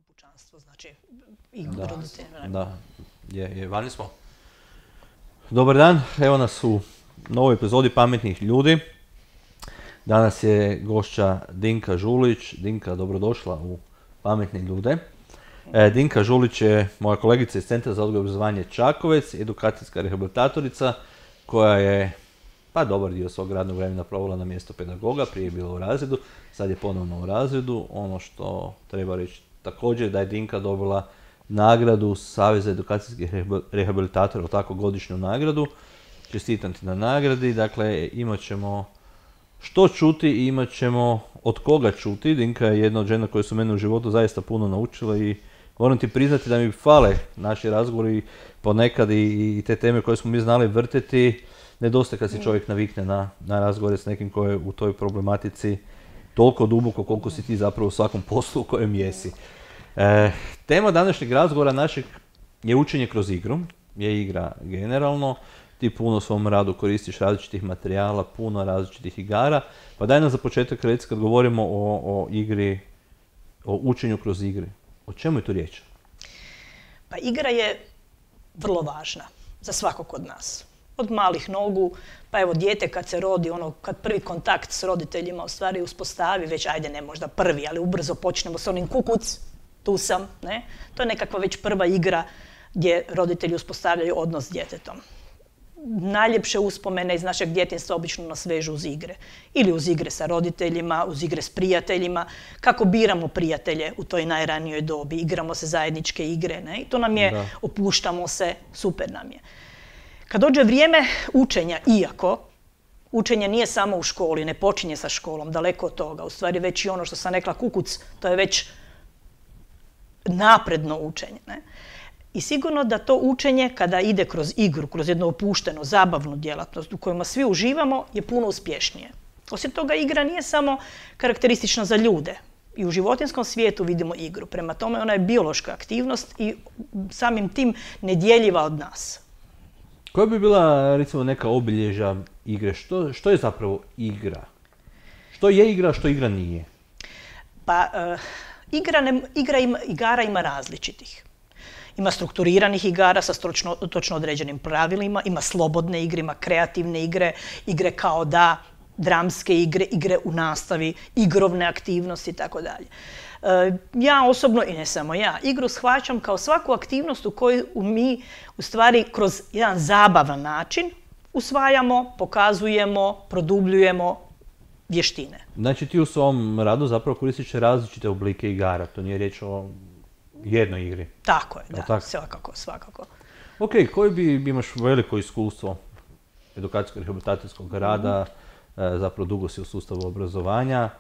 Pučanstvo, znači i roditelji. Da, vani smo. Dobar dan, evo nas u novoj epizodi Pametnih ljudi. Danas je gošća Dinka Žulić. Dinka, dobrodošla u Pametne ljude. Dinka Žulić je moja kolegica iz Centra za odgoj i obrazovanje Čakovec, edukacijska rehabilitatorica koja je dobar dio svog radnog vremena provela na mjesto pedagoga, prije je bila u razredu, sad je ponovno u razredu. Ono što treba reći također da je Dinka dobila nagradu Saveza edukacijskih rehabilitatora, tako godišnju nagradu. Čestitam ti na nagradi. Dakle, imat ćemo što čuti i imat ćemo od koga čuti. Dinka je jedna od žena koje su mene u životu zaista puno naučile i moram ti priznati da mi fale naši razgovori ponekad i te teme koje smo mi znali vrteti. Nedostaje kad se čovjek navikne na razgovore s nekim koji je u toj problematici toliko duboko koliko si ti zapravo u svakom poslu u kojem jesi. Tema današnjeg razgovora našeg je učenje kroz igru, je igra generalno. Ti puno u svom radu koristiš različitih materijala, puno različitih igara. Pa daj nam za početak reći kad govorimo o igri, o učenju kroz igri. O čemu je tu riječ? Pa igra je vrlo važna za svakog od nas. Od malih nogu, pa evo dijete kad se rodi, kad prvi kontakt s roditeljima u stvari uspostavi, već ajde ne možda prvi, ali ubrzo počnemo s onim kukuc, tu sam, ne? To je nekakva već prva igra gdje roditelji uspostavljaju odnos s djetetom. Najljepše uspomene iz našeg djetinjstva obično nas vežu uz igre. Ili uz igre sa roditeljima, uz igre s prijateljima. Kako biramo prijatelje u toj najranijoj dobi, igramo se zajedničke igre, ne? I to nam je, opuštamo se, super nam je. Kad dođe vrijeme učenja, iako učenje nije samo u školi, ne počinje sa školom, daleko od toga. U stvari već i ono što sam rekla kukuc, to je već napredno učenje. Ne? I sigurno da to učenje kada ide kroz igru, kroz jednu opuštenu, zabavnu djelatnost u kojima svi uživamo je puno uspješnije. Osim toga, igra nije samo karakteristična za ljude. I u životinjskom svijetu vidimo igru. Prema tome, ona je biološka aktivnost i samim tim nedjeljiva od nas. Koja bi bila, recimo, neka obilježja igre? Što je zapravo igra? Što je igra, a što igra nije? Pa, igara ima različitih. Ima strukturiranih igara sa točno određenim pravilima, ima slobodne igre, ima kreativne igre, igre kao da, dramske igre, igre u nastavi, igrovne aktivnosti itd. Ja osobno, i ne samo ja, igru shvaćam kao svaku aktivnost u kojoj mi u stvari kroz jedan zabavan način usvajamo, pokazujemo, produbljujemo vještine. Znači ti u svom radu zapravo koristiš različite oblike igara, to nije riječ o jednoj igri. Tako je, da, svakako. Ok, koji bi imaš veliko iskustvo edukacijskog rehabilitacijskog rada, zapravo dugo si u sustavu obrazovanja,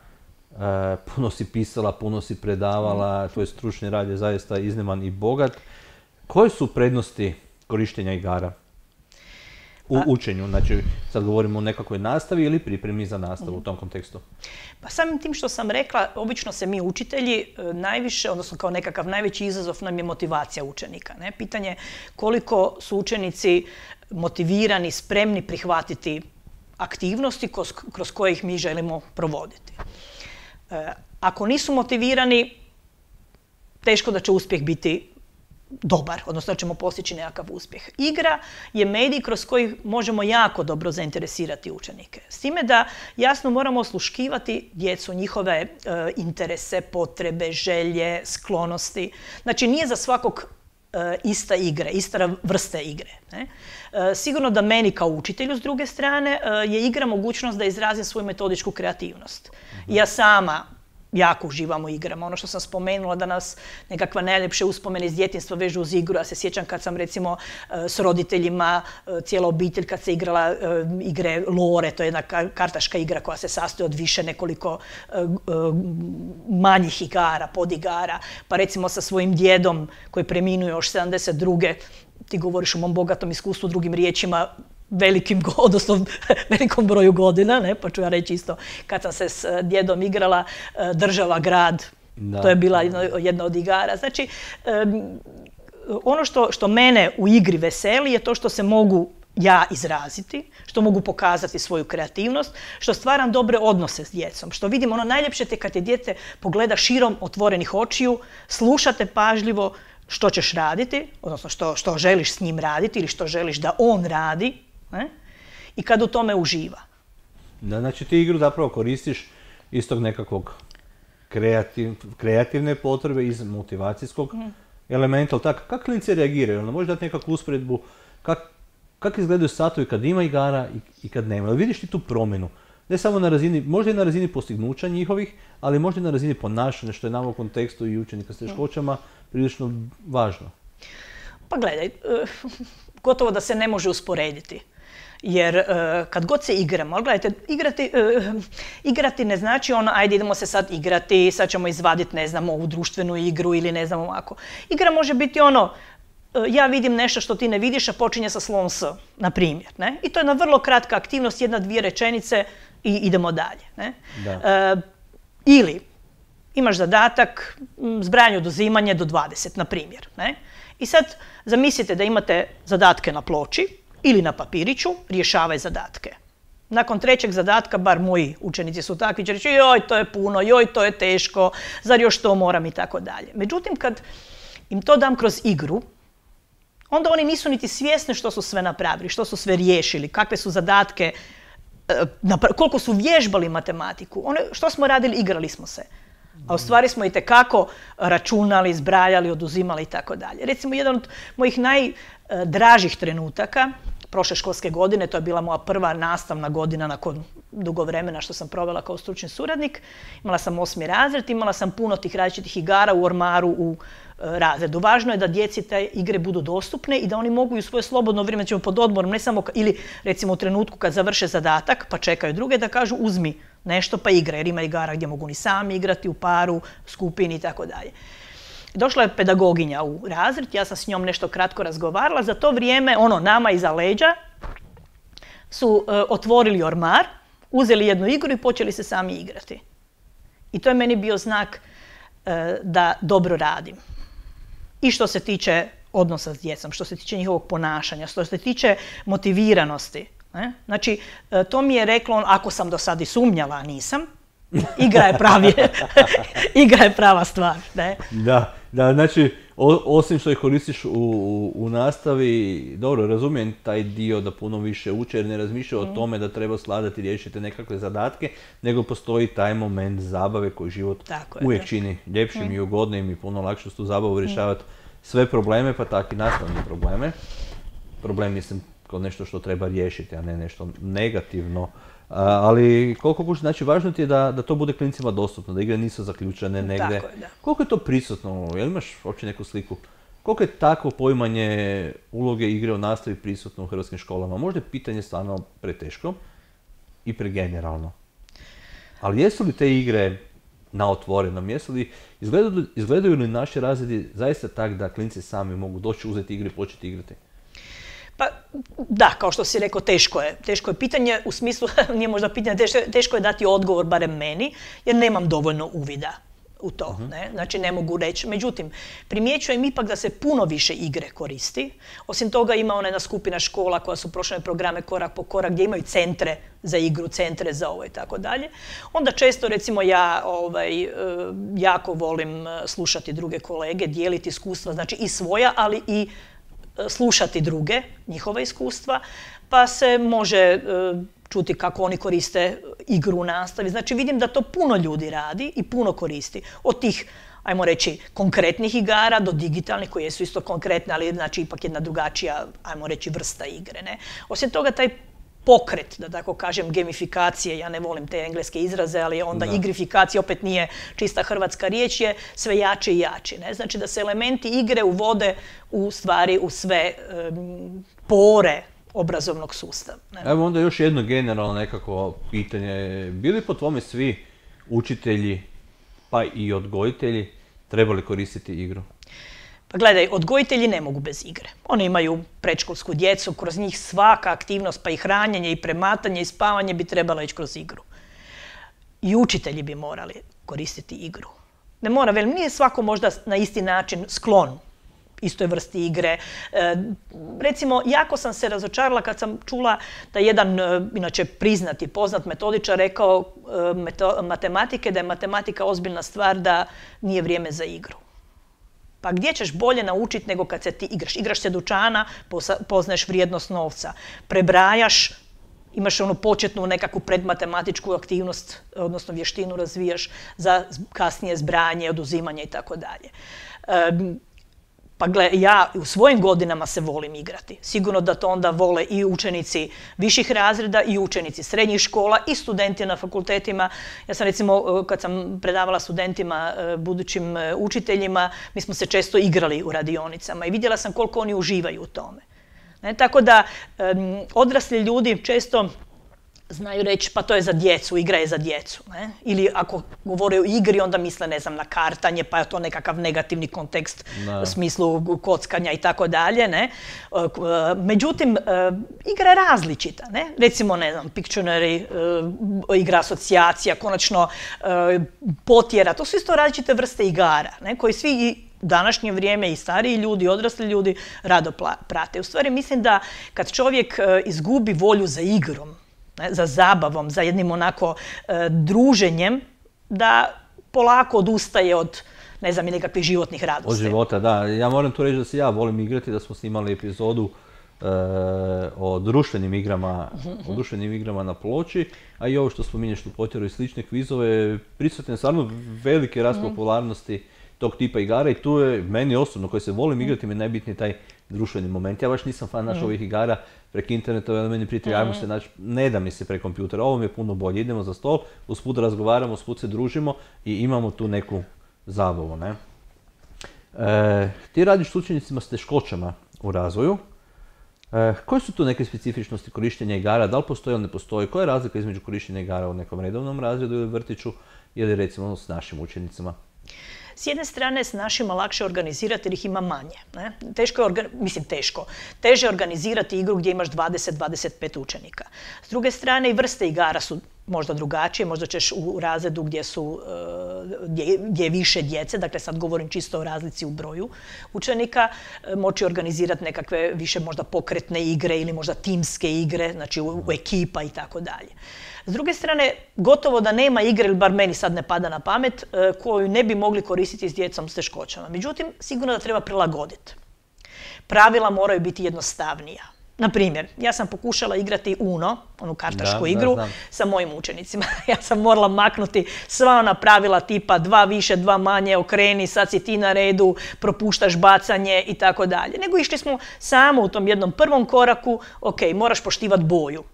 puno si pisala, puno si predavala, tvoj stručni rad je zaista izniman i bogat. Koje su prednosti korištenja igara u učenju? Znači, sad govorimo o nekakvoj nastavi ili pripremi za nastavu u tom kontekstu? Pa samim tim što sam rekla, obično se mi učitelji najviše, odnosno kao nekakav najveći izazov nam je motivacija učenika. Ne? Pitanje koliko su učenici motivirani, spremni prihvatiti aktivnosti kroz koje ih mi želimo provoditi. Ako nisu motivirani, teško da će uspjeh biti dobar, odnosno da ćemo postići nekakav uspjeh. Igra je medij kroz koji možemo jako dobro zainteresirati učenike. S time da jasno moramo osluškivati djecu, njihove interese, potrebe, želje, sklonosti. Znači nije za svakog ista igre, ista vrste igre. Ne? Sigurno da meni kao učitelju s druge strane je igra mogućnost da izrazim svoju metodičku kreativnost. Ja sama jako uživam u igrama. Ono što sam spomenula da nas nekakva najljepše uspomene iz djetinjstva vežu uz igru. Ja se sjećam kad sam recimo s roditeljima, cijela obitelj kad se igrala igre lore, to je jedna kartaška igra koja se sastoji od više nekoliko manjih igara, podigara. Pa recimo sa svojim djedom koji preminuo još 72. Ti govoriš o mom bogatom iskustvu, drugim riječima, velikom broju godina, ne? Pa ću ja reći isto, kad sam se s djedom igrala država, grad, to je bila jedna od igara. Znači, ono što mene u igri veseli je to što se mogu ja izraziti, što mogu pokazati svoju kreativnost, što stvaram dobre odnose s djecom, što vidim ono najljepše te kad te dijete pogleda širom otvorenih očiju, slušate pažljivo što ćeš raditi, odnosno što želiš s njim raditi ili što želiš da on radi, ne? I kad u tome uživa. Da, znači ti igru zapravo koristiš iz tog nekakvog kreativne potrebe, iz motivacijskog elementa, ali tako, kako klinici reagiraju? Možeš dati nekakvu usporedbu, kako izgledaju satovi kad ima igara i kad nema? Ali vidiš ti tu promjenu? Ne samo na razini, možda i na razini postignuća njihovih, ali možda i na razini ponašanja, što je nama u kontekstu i učenika s teškoćama prilično važno. Pa gledaj, gotovo da se ne može usporediti. Jer kad god se igramo, ali gledajte, igrati ne znači ono, ajde idemo se sad igrati, sad ćemo izvaditi, ne znam, ovu društvenu igru ili ne znam ovako. Igra može biti ono, ja vidim nešto što ti ne vidiš, a počinje sa slovom S, na primjer. Ne? I to je jedna vrlo kratka aktivnost, 1-2 rečenice i idemo dalje. Ne? Ili imaš zadatak zbrajanje oduzimanje do 20, na primjer. Ne? I sad zamislite da imate zadatke na ploči ili na papiriću, rješavaj zadatke. Nakon 3. zadatka, bar moji učenici su takvi, će reći joj, to je puno, joj, to je teško, zar još to moram i tako dalje. Međutim, kad im to dam kroz igru, onda oni nisu niti svjesni što su sve napravili, što su sve riješili, kakve su zadatke, koliko su vježbali matematiku. Što smo radili, igrali smo se. A u stvari smo itekako računali, zbrajali, oduzimali i tako dalje. Recimo, jedan od mojih najdražih trenutaka prošle školske godine, to je bila moja prva nastavna godina nakon dugo vremena što sam provela kao stručni suradnik. Imala sam 8. razred, imala sam puno tih različitih igara u ormaru u razredu. Važno je da djeci te igre budu dostupne i da oni mogu i u svoje slobodno vrijeme, ćemo pod odmorom, ne samo ili recimo u trenutku kad završe zadatak pa čekaju druge da kažu uzmi nešto pa igra, jer ima igara gdje mogu ni sami igrati u paru, skupini i tako dalje. Došla je pedagoginja u razred, ja sam s njom nešto kratko razgovarala, za to vrijeme nama iza leđa su otvorili ormar, uzeli jednu igru i počeli se sami igrati. I to je meni bio znak da dobro radim. I što se tiče odnosa s djecom, što se tiče njihovog ponašanja, što se tiče motiviranosti. Ne? Znači, to mi je reklo, ako sam do sad i sumnjala, a nisam, igra je prava stvar. Ne? Da, znači, osim što ih koristiš u nastavi, dobro, razumijem taj dio da puno više uče, jer ne razmišljaju o tome da treba sladati i riješiti nekakve zadatke, nego postoji taj moment zabave koji život uvijek čini ljepšim i ugodnim i puno lakše su tu zabavu rješavati sve probleme, pa tako i nastavne probleme. Problem mislim kao nešto što treba riješiti, a ne nešto negativno. Ali koliko znači važno ti je da to bude klincima dostupno, da igre nisu zaključene negdje. Koliko je to prisutno? Jel imaš uopće neku sliku? Koliko je takvo poimanje uloge igre u nastavi prisutno u hrvatskim školama? Možda je pitanje stvarno preteško i pregeneralno. Ali jesu li te igre na otvorenom? Izgledaju li naši razredi zaista tak da klinci sami mogu doći, uzeti igre i početi igrati? Pa da, kao što si rekao, teško je. Teško je pitanje, u smislu, nije možda pitanje, teško je dati odgovor, barem meni, jer nemam dovoljno uvida u to. Ne? Znači, ne mogu reći. Međutim, primjećujem ipak da se puno više igre koristi. Osim toga, ima ona jedna skupina škola koja su prošle programe korak po korak, gdje imaju centre za igru, centre za ovo i tako dalje. Onda često, recimo, ja jako volim slušati druge kolege, dijeliti iskustva, znači i svoja, ali i slušati druge, njihova iskustva, pa se može čuti kako oni koriste igru u nastavi. Znači vidim da to puno ljudi radi i puno koristi. Od tih, ajmo reći, konkretnih igara do digitalnih koje su isto konkretne, ali znači ipak jedna drugačija, ajmo reći, vrsta igre. Ne? Osim toga, taj pokret, da tako kažem, gamifikacije, ja ne volim te engleske izraze, ali onda igrifikacija opet nije čista hrvatska riječ, je sve jače i jače. Ne? Znači da se elementi igre uvode u stvari u sve pore obrazovnog sustava. Ne? Evo onda još jedno generalno nekako pitanje. Bili po tvome svi učitelji, pa i odgojitelji, trebali koristiti igru? Pa gledaj, odgojitelji ne mogu bez igre. Oni imaju predškolsku djecu, kroz njih svaka aktivnost, pa i hranjenje, i prematanje, i spavanje bi trebala ići kroz igru. I učitelji bi morali koristiti igru. Ne mora, velim, nije svako možda na isti način sklon istoj vrsti igre. Recimo, jako sam se razočarala kad sam čula da jedan, inače priznati, poznat metodičar rekao matematike, da je matematika ozbiljna stvar, da nije vrijeme za igru. Pa gdje ćeš bolje naučiti nego kad se ti igraš? Igraš se dućana, poznaješ vrijednost novca. Prebrajaš, imaš onu početnu nekakvu predmatematičku aktivnost, odnosno vještinu razvijaš za kasnije zbrajanje, oduzimanje i tako dalje. Pa gle, ja u svojim godinama se volim igrati. Sigurno da to onda vole i učenici viših razreda, i učenici srednjih škola, i studenti na fakultetima. Ja sam recimo, kad sam predavala studentima, budućim učiteljima, mi smo se često igrali u radionicama i vidjela sam koliko oni uživaju u tome. Tako da odrasli ljudi često znaju reći pa to je za djecu, igra je za djecu. Ili ako govore o igri onda misle, ne znam, na kartanje, pa je to nekakav negativni kontekst u smislu kockanja i tako dalje. Međutim, igra je različita. Recimo, ne znam, Pictionary, igra asocijacija, konačno potjera, to su isto različite vrste igara, koji svi u današnje vrijeme i stariji ljudi, i odrasli ljudi rado prate. U stvari mislim da kad čovjek izgubi volju za igrom, za zabavom, za jednim onako druženjem, da polako odustaje od, ne znam, nekakvih životnih radosti. Od života, da. Ja moram tu reći da se ja volim igrati, da smo snimali epizodu o društvenim igrama na ploči, a i ovo što spominješ u potjeru i slične kvizove, prisutne je stvarno velike rast popularnosti tog tipa igara i tu je meni osobno, koji se volim igrati, mi je najbitniji taj društveni moment. Ja baš nisam fan ovih igara preko interneta, meni prijatelji, ajmo se naći, ne da mi se preko kompjutera, ovo mi je puno bolje. Idemo za stol, usput razgovaramo, usput se družimo i imamo tu neku zabavu. Ti radiš s učenicima s teškoćama u razvoju. Koje su tu neke specifičnosti korištenja igara? Da li postoji ili ne postoji? Koja je razlika između korištenja igara u nekom redovnom razredu ili vrtiću ili recimo s našim učenicima? S jedne strane s našima lakše organizirati jer ih ima manje. Teže organizirati igru gdje imaš 20-25 učenika. S druge strane i vrste igara su možda drugačije, možda ćeš u razredu gdje je više djece, dakle sad govorim čisto o razlici u broju učenika, moći organizirati nekakve više možda pokretne igre ili možda timske igre, znači u ekipa i tako dalje. S druge strane, gotovo da nema igre, ili bar meni sad ne pada na pamet, koju ne bi mogli koristiti s djecom s teškoćama. Međutim, sigurno da treba prilagoditi. Pravila moraju biti jednostavnija. Na primjer, ja sam pokušala igrati Uno, onu kartašku igru, sa mojim učenicima. Ja sam morala maknuti sva ona pravila tipa 2 više, 2 manje, okreni, sad si ti na redu, propuštaš bacanje i tako dalje. Nego išli smo samo u tom jednom prvom koraku, ok, moraš poštivati boju.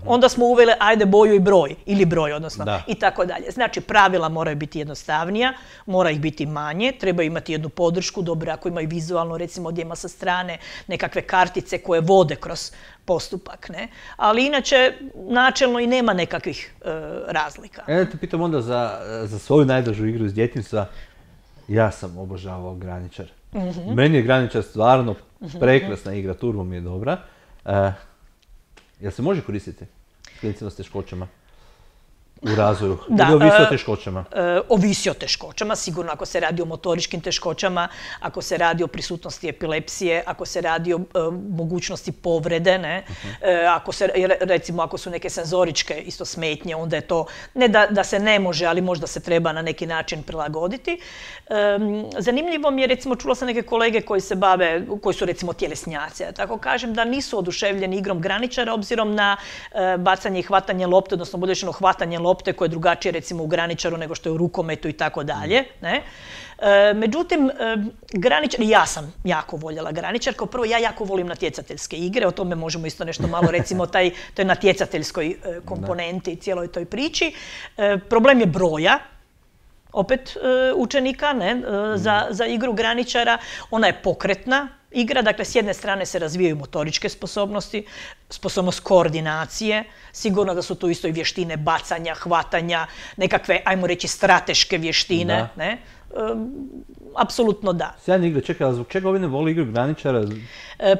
Onda smo uveli ajde boju i broj, ili broj odnosno, i tako dalje. Znači pravila moraju biti jednostavnija, mora ih biti manje, treba imati jednu podršku, dobro ako imaju vizualno, recimo gdje ima sa strane nekakve kartice koje vode kroz postupak, ali inače načelno i nema nekakvih razlika. Da te pitam onda za svoju najdražu igru iz djetinjstva, ja sam obožavao Graničar. Meni je Graničar stvarno prekrasna igra, turbo mi je dobra. Jel se može koristiti s klincima s teškoćama u razvoju? Ili ovisi o teškoćama? Ovisi o teškoćama, sigurno ako se radi o motoričkim teškoćama, ako se radi o prisutnosti epilepsije, ako se radi o mogućnosti povrede, recimo ako su neke senzoričke isto smetnje, onda je to, ne da se ne može, ali možda se treba na neki način prilagoditi. Zanimljivo mi je, recimo, čula sam neke kolege koji se bave, koji su recimo tjelesnjaci, tako kažem, da nisu oduševljeni igrom Graničara obzirom na bacanje i hvatanje lopte, odnosno bolje rečeno hvatanje lopte koje je drugačije recimo u Graničaru nego što je u rukometu i tako dalje. Međutim, Graničar, ja sam jako voljela Graničar, kao prvo ja jako volim natjecateljske igre, o tome možemo isto nešto malo recimo to je natjecateljskoj komponenti i cijeloj toj priči. Problem je broja, opet učenika, za igru Graničara, ona je pokretna igra, dakle s jedne strane se razvijaju motoričke sposobnosti, sposobnost koordinacije, sigurno da su tu isto i vještine bacanja, hvatanja, nekakve, ajmo reći, strateške vještine, apsolutno da. Sjajne igre, čekaj, a zbog čega ovi ne voli igru graničara?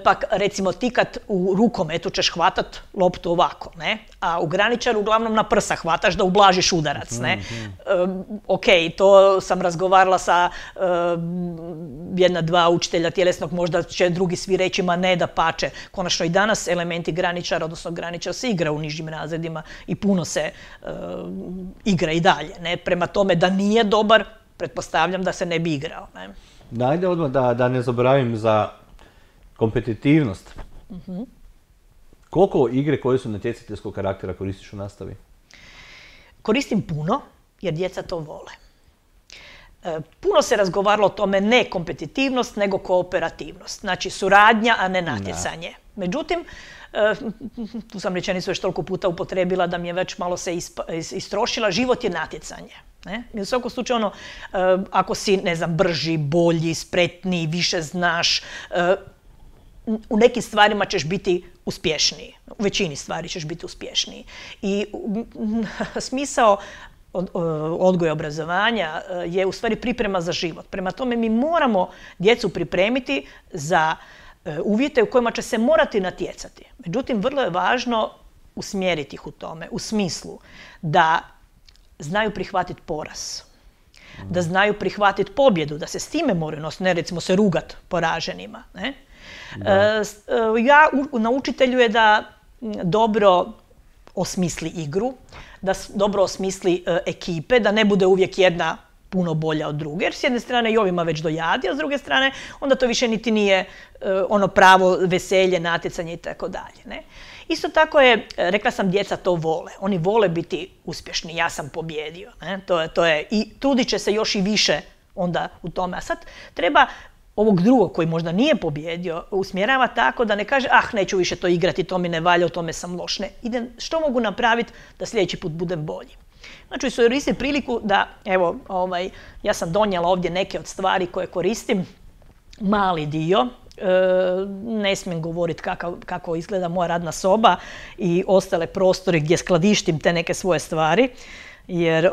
Pa recimo ti kad u rukometu ćeš hvatat loptu ovako, ne? A u graničaru uglavnom na prsa hvataš da ublažiš udarac, ne? Ok, to sam razgovarala sa jedna, dva učitelja tjelesnog, možda će drugi svi reći ma ne, da pače. Konačno i danas elementi graničara, odnosno graničar se igra u nižim razredima i puno se igra i dalje, ne? Prema tome da nije dobar, pretpostavljam da se ne bi igrao, ne? Da, ajde odmah da ne zaboravim za kompetitivnost. Koliko igre koje su natjecateljskog karaktera koristiš u nastavi? Koristim puno, jer djeca to vole. Puno se razgovaralo o tome ne kompetitivnost, nego kooperativnost. Znači suradnja, a ne natjecanje. Međutim, tu sam rečenicu već toliko puta upotrebila da mi je već malo se istrošila, život je natjecanje. Ne? I u svakom slučaju, ako si, ne znam, brži, bolji, spretniji, više znaš, u nekim stvarima ćeš biti uspješniji. U većini stvari ćeš biti uspješniji. I smisao odgoja i obrazovanja je u stvari priprema za život. Prema tome mi moramo djecu pripremiti za uvjete u kojima će se morati natjecati. Međutim, vrlo je važno usmjeriti ih u tome, u smislu da znaju prihvatiti poraz, da znaju prihvatiti pobjedu, da se s time moraju nositi, ne recimo se rugat poraženima. Ne? Ja na učitelju je da dobro osmisli igru, da dobro osmisli ekipe, da ne bude uvijek jedna puno bolja od druge, jer s jedne strane i ovima već dojadi, a s druge strane onda to više niti nije ono pravo veselje, natjecanje i tako dalje. Isto tako je, rekla sam, djeca to vole. Oni vole biti uspješni, ja sam pobjedio. Ne? To je, i trudit će se još i više onda u tome. A sad treba ovog drugog koji možda nije pobjedio usmjerava tako da ne kaže neću više to igrati, to mi ne valja, u tome sam loš. Ne, idem, što mogu napraviti da sljedeći put budem bolji. Znači, koristim priliku da, evo, ja sam donijela ovdje neke od stvari koje koristim, mali dio, ne smijem govoriti kako izgleda moja radna soba i ostale prostori gdje skladištim te neke svoje stvari, jer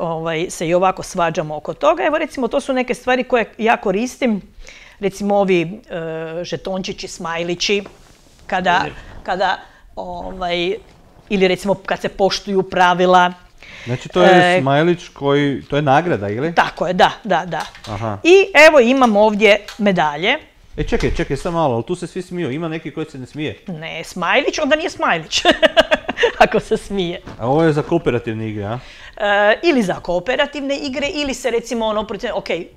se i ovako svađamo oko toga. Evo, recimo, to su neke stvari koje ja koristim, recimo ovi žetončići, smajlići, kada ili recimo kad se poštuju pravila. Znači to je smajlić koji, to je nagrada, ili? Tako je, da. Aha. I evo imam ovdje medalje. Čekaj, samo malo, ali tu se svi smiju, ima neki koji se ne smije? Ne, smajlić, onda nije smajlić, ako se smije. A ovo je za kooperativne igre, a? Ili za kooperativne igre, ili se recimo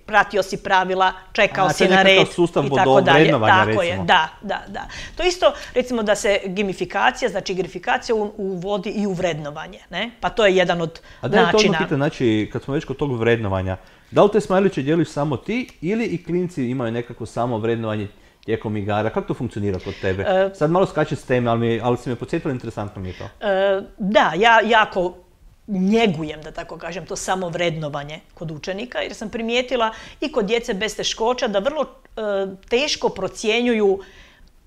pratio si pravila, čekao si na red i tako dalje. Sustav bodovrednovanja, recimo. Tako je, da. To isto, recimo da se gamifikacija, znači igrifikacija uvodi i u vrednovanje, ne? Pa to je jedan od načina. A da je to pitan, znači, kad smo već kod tog vrednovanja, da li te smajliće dijeliš samo ti ili i klinci imaju nekako samo vrednovanje tijekom igara? Kako to funkcionira kod tebe? Sad malo skače s teme, ali si me podsjetila, interesantno mi je to. Da, ja jako njegujem, da tako kažem, to samo vrednovanje kod učenika, jer sam primijetila i kod djece bez teškoća da vrlo teško procjenjuju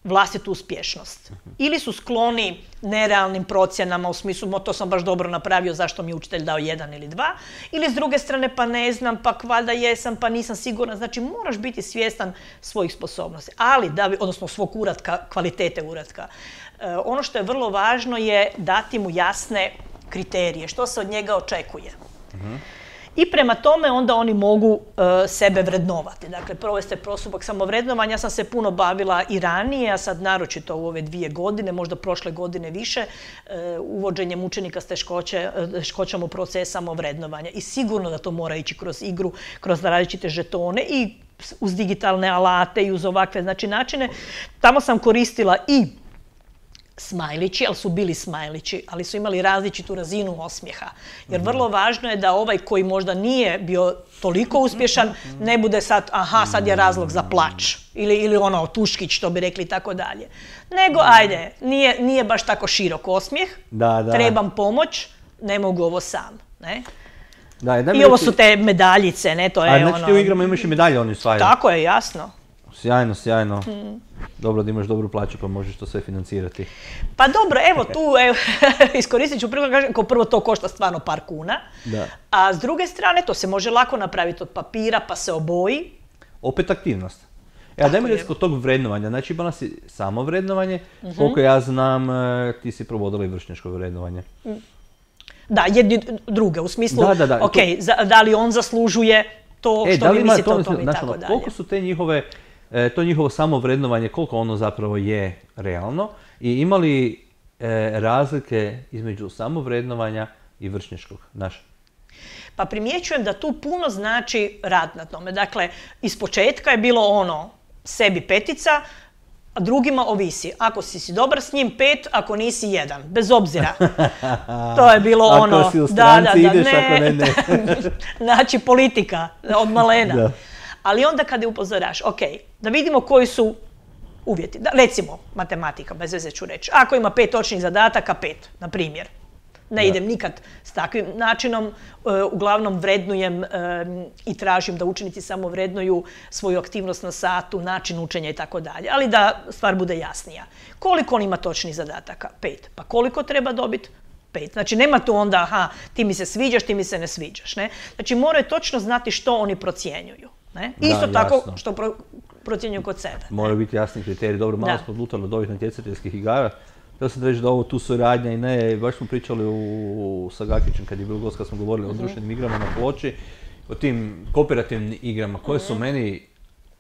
vlastitu uspješnost. Ili su skloni nerealnim procjenama u smislu to sam baš dobro napravio, zašto mi je učitelj dao 1 ili 2, ili s druge strane pa ne znam, pa valjda jesam, pa nisam sigurna. Znači moraš biti svjestan svojih sposobnosti, odnosno svog uratka, kvalitete uratka. Ono što je vrlo važno je dati mu jasne kriterije, što se od njega očekuje. I prema tome onda oni mogu sebe vrednovati. Dakle, provesti postupak samovrednovanja. Ja sam se puno bavila i ranije, a sad naročito u ove 2 godine, možda prošle godine više, uvođenjem učenika s teškoćama u proces samovrednovanja. I sigurno da to mora ići kroz igru, kroz različite žetone i uz digitalne alate i uz ovakve načine. Tamo sam koristila i smajlići, ali su bili smajlići, ali su imali različitu razinu osmijeha. Jer vrlo važno je da ovaj koji možda nije bio toliko uspješan, ne bude sad, sad je razlog za plač. Ili ono, tuškić, što bi rekli, i tako dalje. Nego, ajde, nije baš tako širok osmijeh, trebam pomoć, ne mogu ovo sam. Ne? I ovo su te medaljice, ne, to je ono... Znači ti u igrama imaš i medalje, oni osvajaju? Tako je, jasno. Sjajno, sjajno. Dobro da imaš dobru plaću pa možeš to sve financirati. Pa dobro, evo tu iskoristit ću prvo, kažem, kao prvo to košta stvarno par kuna, a s druge strane to se može lako napraviti od papira pa se oboji. Opet aktivnost. A daj mi reći kod tog vrednovanja, znači imala si samo vrednovanje, koliko ja znam ti si provodila i vršnjačko vrednovanje. Da, jedni druge, u smislu, ok, da li on zaslužuje to što vi mislite o tome i tako dalje. Koliko su te njihove, to njihovo samovrednovanje, koliko ono zapravo je realno i ima li razlike između samovrednovanja i vršnjačkog naša? Pa primjećujem da tu puno znači rad na tome. Dakle, iz početka je bilo ono, sebi 5, a drugima ovisi. Ako si dobar s njim 5, ako nisi 1. Bez obzira. To je bilo ono... Ako si u stranci ideš, ako ne. Znači, politika od malena. Ali onda kada je upozoraš, ok, da vidimo koji su uvjeti. Recimo, matematika, bez veze ću reći. Ako ima 5 točnih zadataka, 5, na primjer. Ne idem nikad s takvim načinom, uglavnom vrednujem i tražim da učenici samo vrednuju svoju aktivnost na satu, način učenja i tako dalje. Ali da stvar bude jasnija. Koliko on ima točnih zadataka? 5. Pa koliko treba dobiti? 5. Znači nema tu onda, aha, ti mi se sviđaš, ti mi se ne sviđaš. Ne? Znači moraju točno znati što oni procjenjuju. Ne? Isto tako što procjenjuju kod sebe. Moraju biti jasni kriteriji. Dobro, malo smo odlutali od ovih natjecateljskih igara. Htio sam reći da ovo tu suradnja i ne, baš smo pričali sa Gakićem kad je bilo gost, kad smo govorili o društvenim igrama na ploči, o tim kooperativnim igrama koje su meni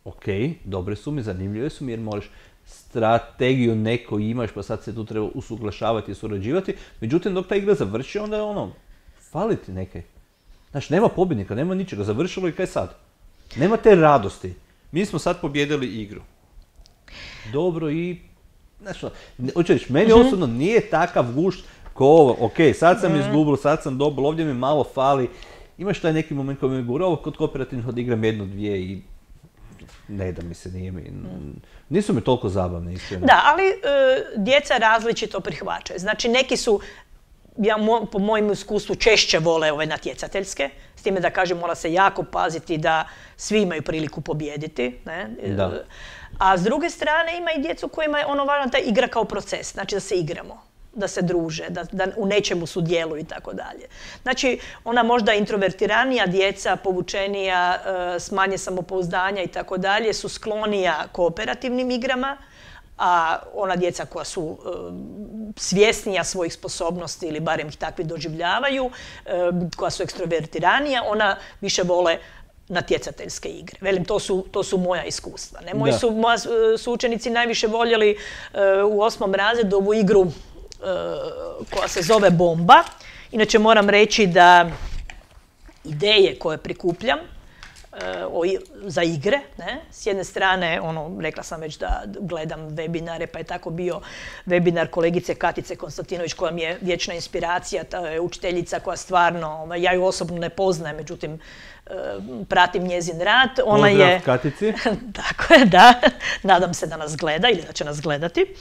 ok, dobre su mi, zanimljive su mi jer možeš strategiju neko imaš pa sad se tu treba usuglašavati i surađivati, međutim dok ta igra završi onda je ono, fali ti nekaj. Znači nema pobjednika, nema ničega, završilo i kaj sad? Nema te radosti. Mi smo sad pobjedili igru. Dobro i znači, hoću reći, meni osobno nije takav gušt ko ovo, ok, sad sam izgubio, sad sam dobil, ovdje mi malo fali, imaš taj neki moment koji mi je gura, ovo kod kooperativnih odigram 1, 2 i ne da mi se nije mi, nisu mi toliko zabavne, iskreno. Da, ali djeca različito prihvaćaju, znači neki su, po mojem iskustvu, češće vole ove natjecateljske, s time da kažem mora se jako paziti da svi imaju priliku pobijediti, ne? Da. A s druge strane ima i djecu kojima je ono važno ta igra kao proces, znači da se igramo, da se druže, da u nečemu sudjeluju i tako dalje. Znači ona možda introvertiranija djeca, povučenija, s manje samopouzdanja i tako dalje su sklonija kooperativnim igrama, a ona djeca koja su svjesnija svojih sposobnosti ili barem ih takvi doživljavaju, koja su ekstrovertiranija, ona više vole natjecateljske igre. Velim, to su moja iskustva. Ne? Moji su učenici najviše voljeli u 8. razredu ovu igru koja se zove Bomba. Inače moram reći da ideje koje prikupljam za igre, ne? S jedne strane, rekla sam već da gledam webinare, pa je tako bio webinar kolegice Katice Konstantinović koja mi je vječna inspiracija, ta je učiteljica koja stvarno, ja ju osobno ne poznajem, međutim pratim njezin rad. Pozdrav Katici. Tako je, da. Nadam se da nas gleda ili da će nas gledati.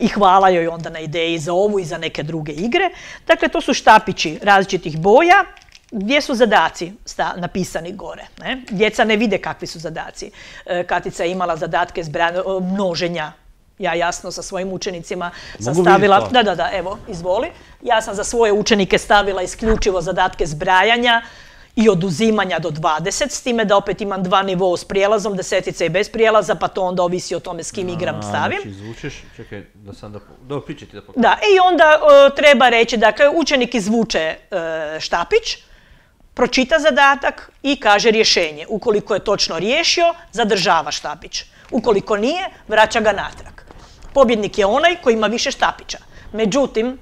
I hvala joj onda na ideji za ovu i za neke druge igre. Dakle, to su štapići različitih boja, gdje su zadaci napisani gore. Ne? Djeca ne vide kakvi su zadaci. Katica je imala zadatke množenja. Ja jasno sa svojim učenicima sam stavila... Da, evo, izvoli. Ja sam za svoje učenike stavila isključivo zadatke zbrajanja i oduzimanja do 20, s time da opet imam 2 nivoa s prijelazom, 10 i bez prijelaza, pa to onda ovisi o tome s kim igram stavim. Znači zvučeš, čekaj, da sam da... Dobro, pričaj ti da pokažem. Da, i onda treba reći, dakle, učenik izvuče štapić, pročita zadatak i kaže rješenje. Ukoliko je točno riješio, zadržava štapić. Ukoliko nije, vraća ga natrag. Pobjednik je onaj koji ima više štapića. Međutim,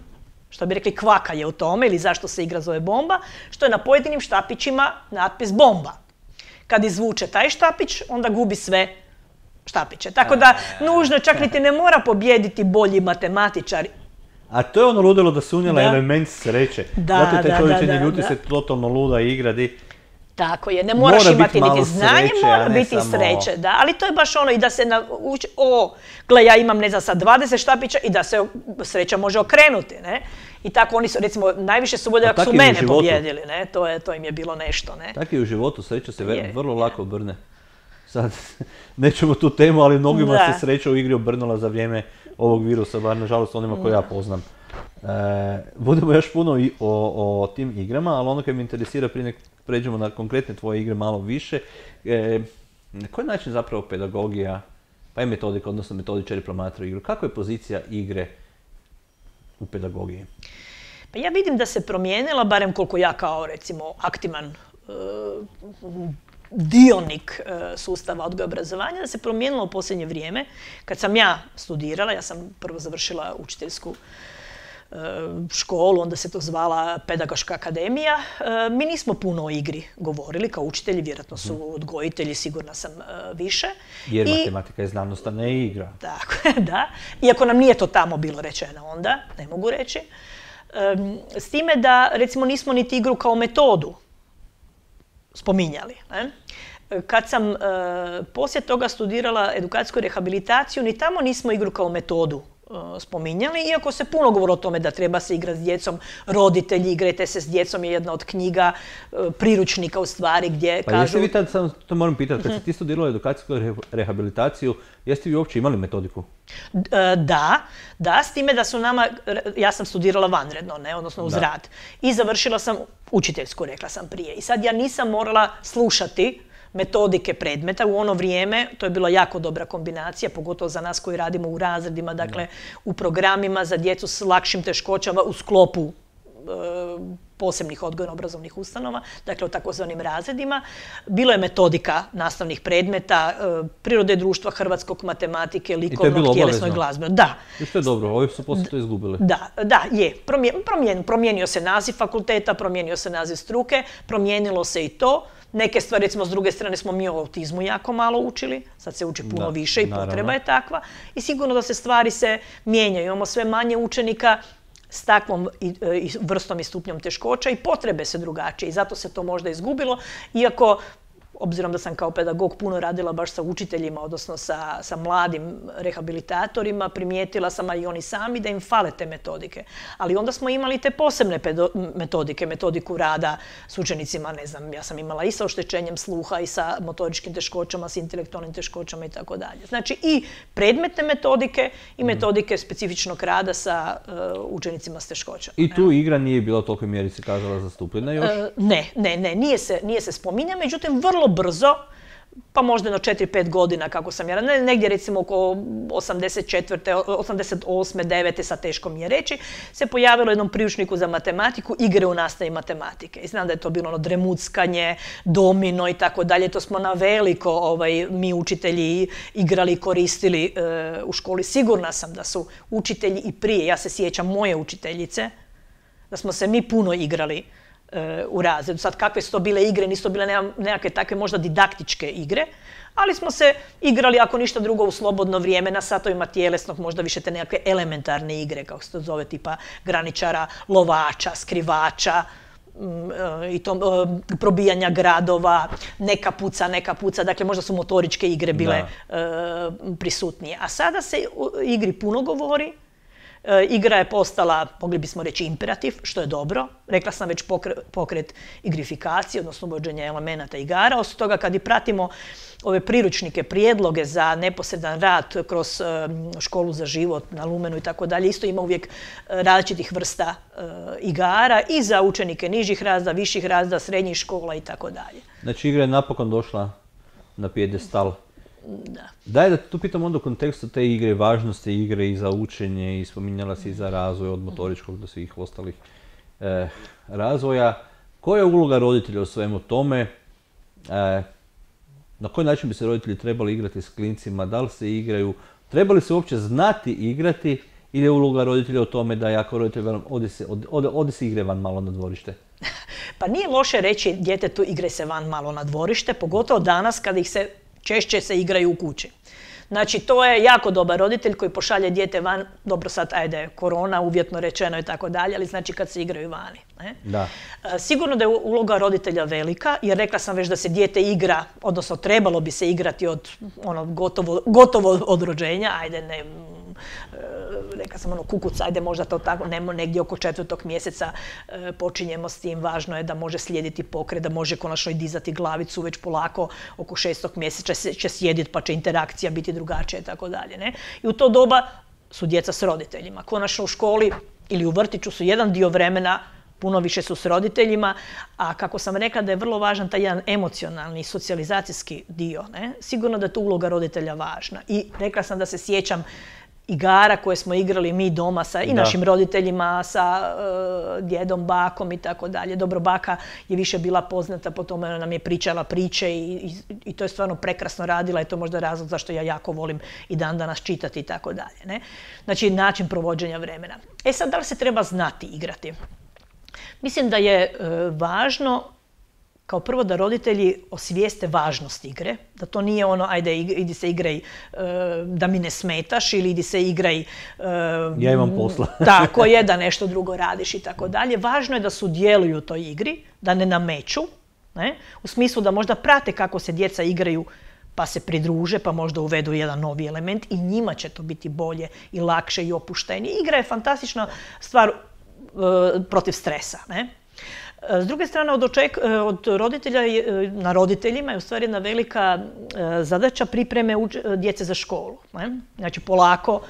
što bi rekli kvaka je u tome, ili zašto se igra zove Bomba, što je na pojedinim štapićima natpis Bomba. Kad izvuče taj štapić, onda gubi sve štapiće. Tako da, nužno čak niti ne mora pobijediti bolji matematičar. A to je ono ludilo da se unijela element sreće. Zato te čovječe ljuti se totalno luda igra di... Tako je, ne moraš imati niti znanje, mora biti i sreće, da. Ali to je baš ono i da se nauči, gle, ja imam, ne znam, sad 20 štapića i da se sreća može okrenuti, ne. I tako oni su, recimo, najviše su voljeli ako su mene pobjedili, ne. To im je bilo nešto, ne. Tako i u životu sreća se vrlo lako obrne. sad nećemo tu temu, ali mnogima Da. se sreća u igri obrnula za vrijeme ovog virusa, bar nažalost onima koje ja poznam. Budemo još puno o tim igrama, ali ono kad me interesira prije nek pređemo na konkretne tvoje igre malo više, na koji način zapravo pedagogija, pa i metodika, odnosno metodičari promatraju igru, kakva je pozicija igre u pedagogiji? Pa ja vidim da se promijenila, barem koliko ja kao recimo aktivan dionik sustava odgoja i obrazovanja, da se promijenilo u posljednje vrijeme. Kad sam ja studirala, ja sam prvo završila učiteljsku školu, onda se to zvala Pedagoška akademija. Mi nismo puno o igri govorili kao učitelji, vjerojatno su odgojitelji, sigurna sam više. Jer matematika je znanost, a ne igra. Tako je, da. Iako nam nije to tamo bilo rečeno onda, ne mogu reći. S time da, recimo, nismo niti igru kao metodu spominjali. Ne? Kad sam poslije toga studirala edukacijsku rehabilitaciju, ni tamo nismo igru kao metodu spominjali, iako se puno govori o tome da treba se igrati s djecom, roditelji, igrajte se s djecom je jedna od knjiga, priručnika u stvari gdje kažu... Pa jeste vi tad, samo to moram pitati, kad ste ti studirala edukacijsku rehabilitaciju, jeste vi uopće imali metodiku? Da, s time da su nama, ja sam studirala vanredno, ne, odnosno uz rad. I završila sam učiteljsku, rekla sam prije. I sad ja nisam morala slušati metodike predmeta. U ono vrijeme to je bila jako dobra kombinacija, pogotovo za nas koji radimo u razredima, dakle u programima za djecu s lakšim teškoćama u sklopu posebnih odgojno-obrazovnih ustanova, dakle u takozvanim razredima. Bilo je metodika nastavnih predmeta, prirode društva, hrvatskog, matematike, likovnog, tjelesno i glazbeno. Da. I što je dobro, ovi su poslije to izgubili. Da, je. Promijenio se naziv fakulteta, promijenio se naziv struke, promijenilo se i to. Neke stvari, recimo, s druge strane smo mi o autizmu jako malo učili, sad se uči puno više i potreba je takva. I sigurno da se stvari se mijenjaju. Imamo sve manje učenika s takvom vrstom i stupnjom teškoća i potrebe se drugačije i zato se to možda izgubilo, iako obzirom da sam kao pedagog puno radila baš sa učiteljima, odnosno sa mladim rehabilitatorima, primijetila sam, a i oni sami, da im fale te metodike. Ali onda smo imali te posebne metodike, metodiku rada s učenicima, ne znam, ja sam imala i sa oštećenjem sluha i sa motoričkim teškoćama, s intelektualnim teškoćama i tako dalje. Znači i predmetne metodike i metodike specifičnog rada sa učenicima s teškoćama. I tu igra nije bila toliko mjeri se kazala zastupljena još? Ne, nije se spominja, međutim vrlo brzo, pa možda na 4-5 godina kako sam ja, negdje recimo oko 84. 88. 9. sad teško mi je reći, se pojavilo jednom priručniku za matematiku igre u nastavi matematike. I znam da je to bilo ono dremuckanje, domino i tako dalje, to smo na veliko mi učitelji igrali i koristili u školi. Sigurna sam da su učitelji i prije, ja se sjećam moje učiteljice, da smo se mi puno igrali u razredu. Sad kakve su to bile igre, nisu to bile nekakve takve možda didaktičke igre, ali smo se igrali, ako ništa drugo, u slobodno vrijeme, na satovima tjelesnog, možda više te nekakve elementarne igre, kako se to zove, tipa graničara, lovača, skrivača, i to probijanja gradova, neka puca, dakle možda su motoričke igre bile prisutnije. A sada se u igri puno govori. Igra je postala, mogli bismo reći, imperativ, što je dobro. Rekla sam već pokret igrifikacije, odnosno uvođenja elemenata igara. Osim toga, kad i pratimo ove priručnike, prijedloge za neposredan rad kroz školu za život na Lumenu i tako dalje, isto ima uvijek različitih vrsta igara i za učenike nižih razreda, viših razreda, srednjih škola i tako dalje. Znači, igra je napokon došla na pijedestal. Da. Daj da tu pitam onda u kontekstu te igre, važnosti igre i za učenje i spominjala si i za razvoj od motoričkog do svih ostalih razvoja. Koja je uloga roditelja u svemu tome? Na koji način bi se roditelji trebali igrati s klincima? Da li se igraju? Treba li se uopće znati igrati ili je uloga roditelja u tome da ja kao roditelj velim odi se igre van malo na dvorište? Pa nije loše reći djetetu igre se van malo na dvorište, pogotovo danas kada ih se češće se igraju u kući. Znači, to je jako dobar roditelj koji pošalje dijete van, dobro sad, ajde, korona, uvjetno rečeno i tako dalje, ali znači kad se igraju vani. Ne? Da. Sigurno da je uloga roditelja velika, jer rekla sam već da se dijete igra, odnosno trebalo bi se igrati od gotovo od rođenja, ajde, ne rekla sam kukuc, ajde možda to tako, negdje oko 4. mjeseca počinjemo s tim, važno je da može slijediti pokret, da može konačno i dizati glavicu, već polako oko 6. mjeseca će sjediti pa će interakcija biti drugačija i tako dalje. I u to doba su djeca s roditeljima. Konačno u školi ili u vrtiću su jedan dio vremena, puno više su s roditeljima, a kako sam rekla da je vrlo važan taj jedan emocionalni, socijalizacijski dio, sigurno da je tu uloga roditelja važna. I rekla sam da se sjećam igara koje smo igrali mi doma sa i našim roditeljima, sa djedom, bakom i tako dalje. Dobro, baka je više bila poznata po tome, ona nam je pričala priče i to je stvarno prekrasno radila i to je možda razlog zašto ja jako volim i dan danas čitati i tako dalje. Znači, način provođenja vremena. Sad, da li se treba znati igrati? Mislim da je važno kao prvo da roditelji osvijeste važnost igre, da to nije ono ajde idi se igraj da mi ne smetaš ili idi se igraj ja imam posla. Tako je, da nešto drugo radiš i tako dalje. Važno je da sudjeluju u toj igri, da ne nameću, u smislu da možda prate kako se djeca igraju pa se pridruže, pa možda uvedu jedan novi element i njima će to biti bolje i lakše i opuštenije. Igra je fantastična stvar protiv stresa. S druge strane, od roditelja na roditeljima je u stvari jedna velika zadaća pripreme djece za školu. Znači, polako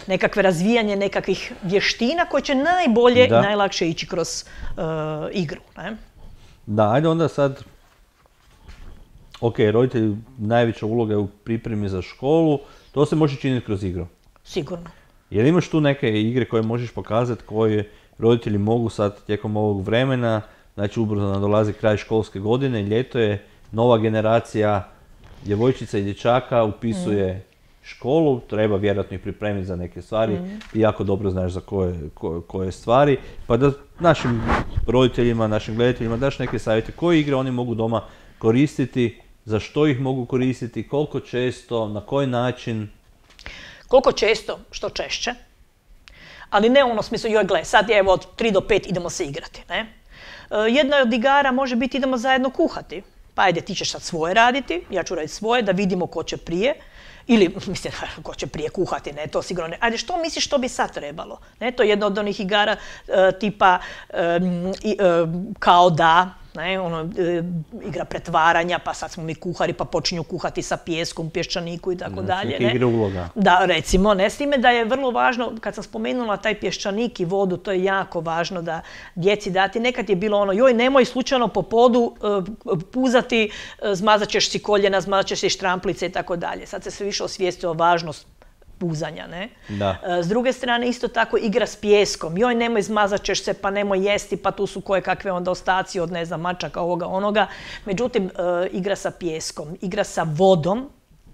nekakve razvijanje nekakvih vještina koje će najbolje i najlakše ići kroz igru. Da, ajde onda sad, roditelji najveća uloga je u pripremi za školu, to se može činiti kroz igru. Sigurno. Jer imaš tu neke igre koje možeš pokazati koje roditelji mogu sad tijekom ovog vremena, znači ubrzo nadolazi kraj školske godine, ljeto je, nova generacija djevojčica i dječaka upisuje školu, treba vjerojatno ih pripremiti za neke stvari, ti jako dobro znaš za koje stvari, pa da našim roditeljima, našim gledateljima daš neke savjete koje igre oni mogu doma koristiti, za što ih mogu koristiti, koliko često, na koji način. Koliko često, što češće. Ali ne u ono smislu, joj gle, sad je od 3 do 5 idemo se igrati. Jedna od igara može biti idemo zajedno kuhati. Pa ajde, ti ćeš sad svoje raditi, ja ću raditi svoje, da vidimo ko će prije. Ili, mislim, ko će prije kuhati, to sigurno ne. Ajde, što misliš što bi sad trebalo? To je jedna od onih igara tipa kao da, igra pretvaranja, pa sad smo mi kuhari, pa počinju kuhati sa pijeskom, pješčaniku i tako dalje. Neke igre uloga. Da, recimo, s time da je vrlo važno, kad sam spomenula taj pješčanik i vodu, to je jako važno da djeci dati. Nekad je bilo ono, joj, nemoj slučajno po podu puzati, zmazat ćeš si koljena, zmazat ćeš si štramplice i tako dalje. Sad se sve više osvijestio važnost puzanja, S druge strane, isto tako igra s pijeskom. Joj, nemoj, zmazat ćeš se, pa nemoj jesti, pa tu su koje kakve onda ostaci od, mačaka, ovoga, onoga. Međutim, igra sa pijeskom, igra sa vodom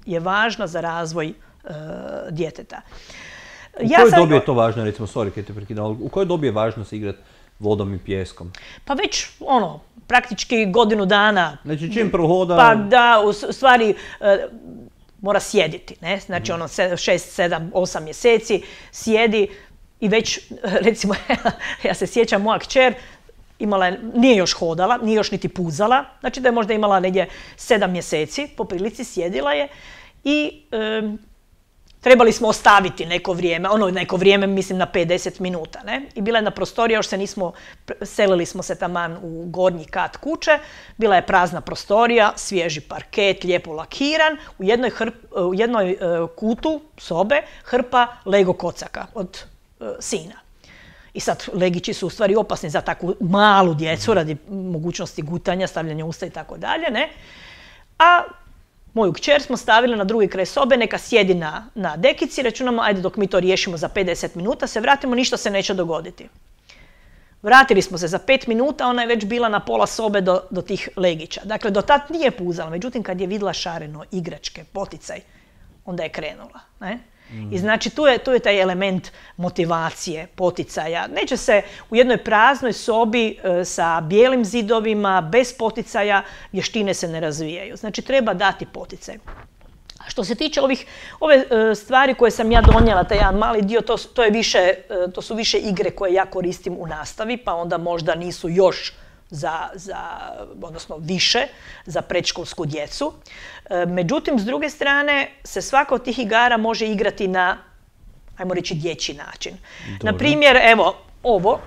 je važna za razvoj djeteta. U kojoj dobi je to važno, recimo, u kojoj dobi je važno se igrati vodom i pijeskom? Pa već, praktički godinu dana. Znači, čim prohoda. Pa da, u stvari, mora sjediti, znači 6, 7, 8 mjeseci sjedi i već, recimo, ja se sjećam, moja kćer nije još hodala, nije još niti puzala, znači da je možda imala negdje 7 mjeseci, po prilici sjedila je i trebali smo ostaviti neko vrijeme, mislim na 50 minuta, I bila je na prostorija, još se nismo, selili smo se taman u gornji kat kuće, bila je prazna prostorija, svježi parket, lijepo lakiran, u jednoj kutu sobe hrpa Lego kocaka od sina. I sad legići su u stvari opasni za takvu malu djecu radi mogućnosti gutanja, stavljanja usta i tako dalje, A moju kćer smo stavili na drugi kraj sobe, neka sjedi na dekici, računamo, ajde dok mi to riješimo za 50 minuta, se vratimo, ništa se neće dogoditi. Vratili smo se za 5 minuta, ona je već bila na pola sobe do tih legića. Dakle, do tad nije puzala, međutim kad je vidjela šareno, igračke, poticaj, onda je krenula. I znači tu je taj element motivacije, poticaja. Neće se u jednoj praznoj sobi sa bijelim zidovima, bez poticaja, vještine se ne razvijaju. Znači treba dati poticaj. A što se tiče ove stvari koje sam ja donijela, taj jedan mali dio, to su više igre koje ja koristim u nastavi, pa onda možda nisu još odnosno više za predškolsku djecu. Međutim, s druge strane, se svaka od tih igara može igrati na ajmo reći, dječji način. Dobro. Na primjer, evo, ovo.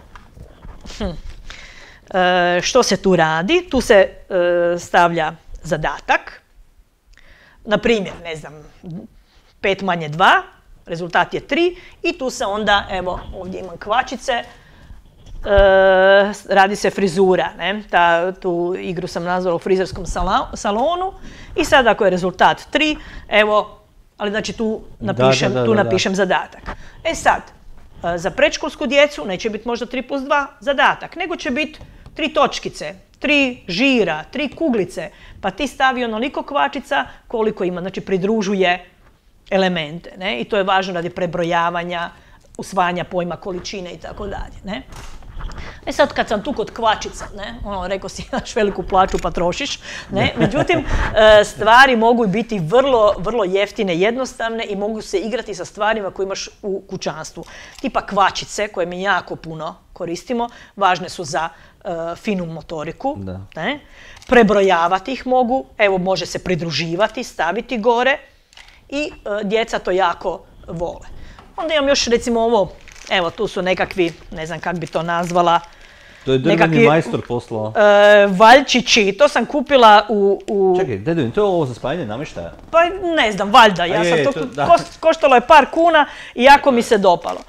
Što se tu radi? Tu se stavlja zadatak. Na primjer, ne znam, 5 manje 2, rezultat je 3 i tu se onda, evo, ovdje imam kvačice, radi se frizura, ne? Tu igru sam nazvala u frizerskom salonu i sad ako je rezultat 3, evo, ali znači tu napišem zadatak. E sad, za predškolsku djecu neće biti možda 3+2 zadatak, nego će biti 3 točkice, 3 žira, 3 kuglice, pa ti stavi onoliko kvačica koliko ima, znači pridružuje elemente, ne? I to je važno radi prebrojavanja, usvajanja pojma količine i tako dalje, ne? E sad kad sam tu kod kvačica, ne, rekao si imaš veliku plaću pa trošiš, ne, međutim stvari mogu biti vrlo, vrlo jeftine, jednostavne i mogu se igrati sa stvarima koje imaš u kućanstvu. Tipa kvačice koje mi jako puno koristimo, važne su za finu motoriku, ne, prebrojavati ih mogu, evo može se pridruživati, staviti gore i djeca to jako vole. Onda imam još recimo ovo. Evo, tu su nekakvi, ne znam kako bi to nazvala. To je drveni majstor poslao. Valjčići, to sam kupila u... Čekaj, dedovin, to je ovo za spajanje namještaja? Pa ne znam, valjda, ja sam to koštalo je par kuna i jako mi se dopalo.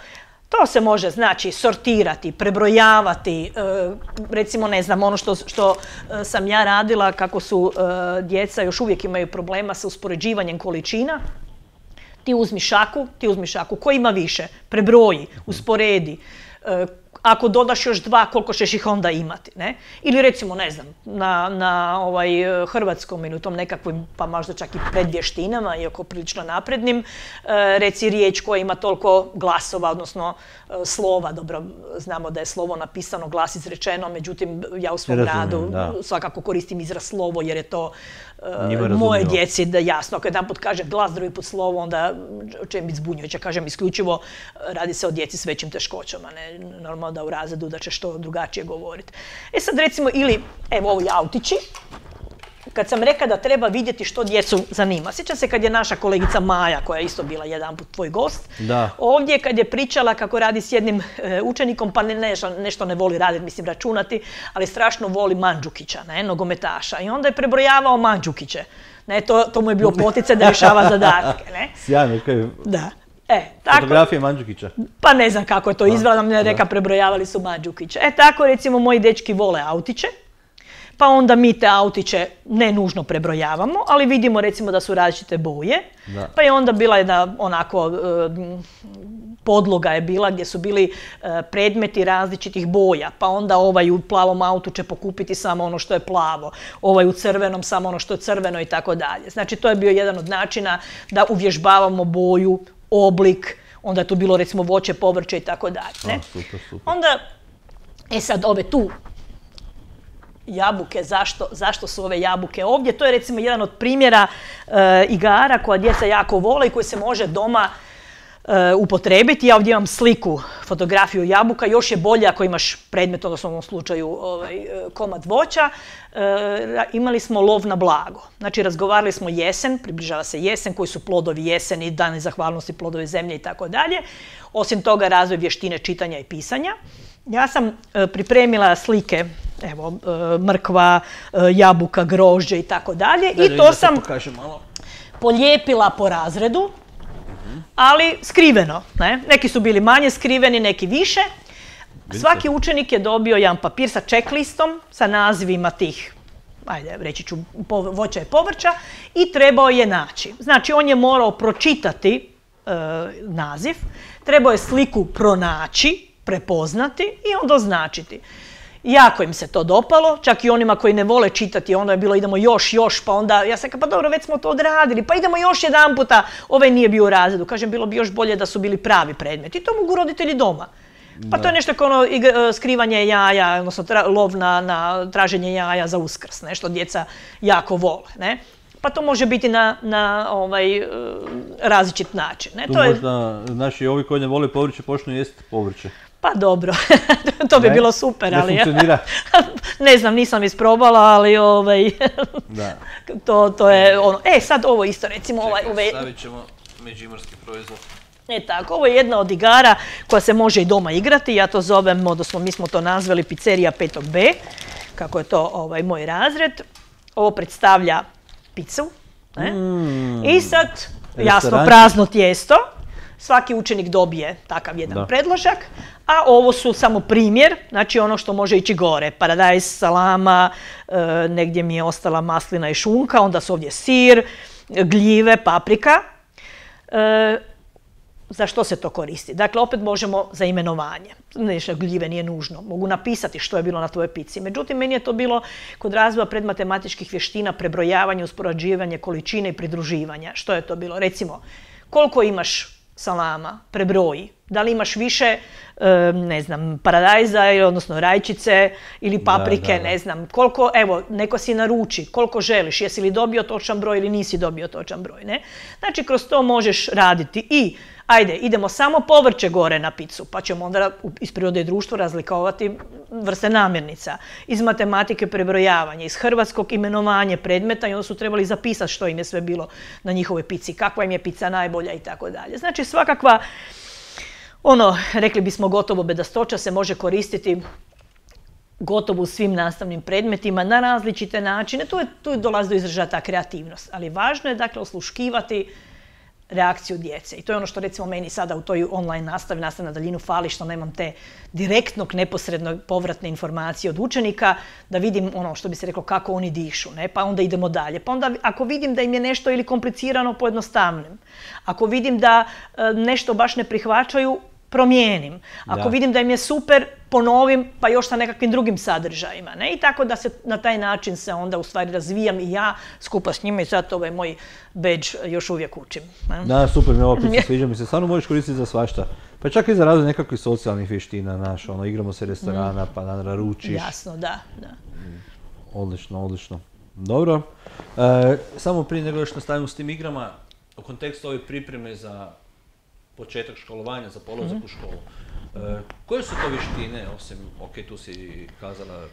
To se može, znači, sortirati, prebrojavati, recimo, ne znam, ono što sam ja radila, kako su djeca još uvijek imaju problema sa uspoređivanjem količina. Ti uzmi šaku, ko ima više, prebroji, usporedi, ako dodaš još 2, koliko ćeš ih onda imati, ne? Ili recimo, ne znam, na hrvatskom ili u tom nekakvim, pa možda čak i predvještinama, iako prilično naprednim, reci riječ koja ima toliko glasova, odnosno slova, dobro, znamo da je slovo napisano, glas izrečeno, međutim, ja u svom radu svakako koristim izraz slovo, jer je to moje djeci da jasno. Ako jedan put kaže glas, drugi put slovo, onda će biti zbunjujuće. Kažem, isključivo radi se o djeci s većim teškoćama, ne normalno da u razredu da će što drugačije govoriti. E sad recimo, ili evo ovi autići, kad sam rekla da treba vidjeti što djecu zanima. Sjećam se kad je naša kolegica Maja, koja je isto bila jedanput tvoj gost, ovdje kad je pričala kako radi s jednim učenikom, pa nešto ne voli raditi, mislim računati, ali strašno voli Mandžukića, nogometaša. I onda je prebrojavao Mandžukiće. To mu je bilo poticaj da rješava zadatke. Sjajno, kaj je... Da. Fotografije Mandžukića. Pa ne znam kako je to izvela, nam ne reka prebrojavali su Mandžukiće. Tako recimo moji dečki vole autiće, pa onda mi te autiće ne nužno prebrojavamo, ali vidimo recimo da su različite boje, pa je onda bila jedna onako podloga je bila gdje su bili predmeti različitih boja, pa onda ovaj u plavom autu će pokupiti samo ono što je plavo, ovaj u crvenom samo ono što je crveno i tako dalje. Znači to je bio jedan od načina da uvježbavamo boju, oblik, onda je tu bilo recimo voće, povrće i tako dalje. Super. Onda, sad ove tu jabuke, zašto su ove jabuke ovdje? To je recimo jedan od primjera igara koja djeca jako vole i koji se može doma upotrebiti. Ja ovdje imam sliku, fotografiju jabuka, još je bolje ako imaš predmet, odnosno u ovom slučaju komad voća. Imali smo lov na blago. Znači razgovarali smo jesen, približava se jesen, koji su plodovi jeseni, dani zahvalnosti, plodovi zemlje i tako dalje. Osim toga razvoj vještine čitanja i pisanja. Ja sam pripremila slike, evo, mrkva, jabuka, grožđe i tako dalje i to sam polijepila po razredu, ali skriveno. Neki su bili manje skriveni, neki više. Svaki učenik je dobio jedan papir sa checklistom, sa nazivima tih, ajde, reći ću, voća i povrća i trebao je naći. Znači, on je morao pročitati naziv, trebao je sliku pronaći, prepoznati i onda označiti. Jako im se to dopalo, čak i onima koji ne vole čitati, onda je bilo idemo još, pa onda ja sam pa dobro, već smo to odradili, pa idemo još jedan puta, ovaj nije bio u razredu. Kažem, bilo bi još bolje da su bili pravi predmeti. I to mogu roditelji doma. Pa to je nešto kao skrivanje jaja, odnosno lov na traženje jaja za Uskrs, nešto djeca jako vole. Pa to može biti na različit način. Tu možda, znači, ovi koji ne vole povrće počnu jesti povrće. Pa dobro, to bi bilo super, ali... Ne funkcionira? Ne znam, nisam isprobala, ali to je ono... sad ovo isto, recimo ovaj... Stavit ćemo međimurski proizvod. Tako, ovo je jedna od igara koja se može i doma igrati. Ja to zovem, odnosno mi smo to nazvali pizzerija 5B, kako je to moj razred. Ovo predstavlja picu. I sad, jasno, prazno tijesto. Svaki učenik dobije takav jedan predložak, a ovo su samo primjer, znači ono što može ići gore. Paradajz, salama, negdje mi je ostala maslina i šunka, onda su ovdje sir, gljive, paprika. Za što se to koristi? Dakle, opet možemo za imenovanje. Nešto gljive nije nužno. Mogu napisati što je bilo na tvojoj pici. Međutim, meni je to bilo kod razvoja predmatematičkih vještina, prebrojavanje, uspoređivanje količine i pridruživanja. Što je to bilo? Recimo, koliko imaš salama, prebroji. Da li imaš više, ne znam, paradajza, odnosno rajčice ili paprike, ne znam. Koliko, evo, neko si naruči, koliko želiš, jesi li dobio točan broj ili nisi dobio točan broj, ne? Znači, kroz to možeš raditi i, ajde, idemo samo povrće gore na picu, pa ćemo onda iz prirode i društva razlikovati vrste namirnica. Iz matematike prebrojavanje, iz hrvatskog imenovanje predmeta i onda su trebali zapisati što im je sve bilo na njihovoj pici, kakva im je pica najbolja i tako dalje. Znači, svakakva, rekli bismo gotovo bedastoća se može koristiti gotovo u svim nastavnim predmetima na različite načine. Tu dolazi do izražaja ta kreativnost, ali važno je dakle osluškivati reakciju djece. I to je ono što recimo meni sada u toj online nastavi na daljinu fali, što nemam te direktnog, neposrednog povratne informacije od učenika, da vidim ono što bi se reklo kako oni dišu, ne? Pa onda idemo dalje. Pa onda ako vidim da im je nešto ili komplicirano, pojednostavnim. Ako vidim da nešto baš ne prihvaćaju, promijenim. Ako vidim da im je super, ponovim, pa još sa nekakvim drugim sadržajima. Ne? I tako da se na taj način se onda u stvari razvijam i ja skupa s njima i zato ovaj moj badge još uvijek učim. Ne? Da, super, mi ovo priča sviđa mi se. Stvarno možeš koristiti za svašta. Pa čak i za razvoj nekakvih socijalnih vještina, igramo se restorana, pa naručiš. Jasno, da. Odlično. Dobro. Samo prije nego još nastavimo s tim igrama, u kontekstu ove pripreme za početak školovanja, za polazak u školu. Koje su to vještine, osim, tu si kazala,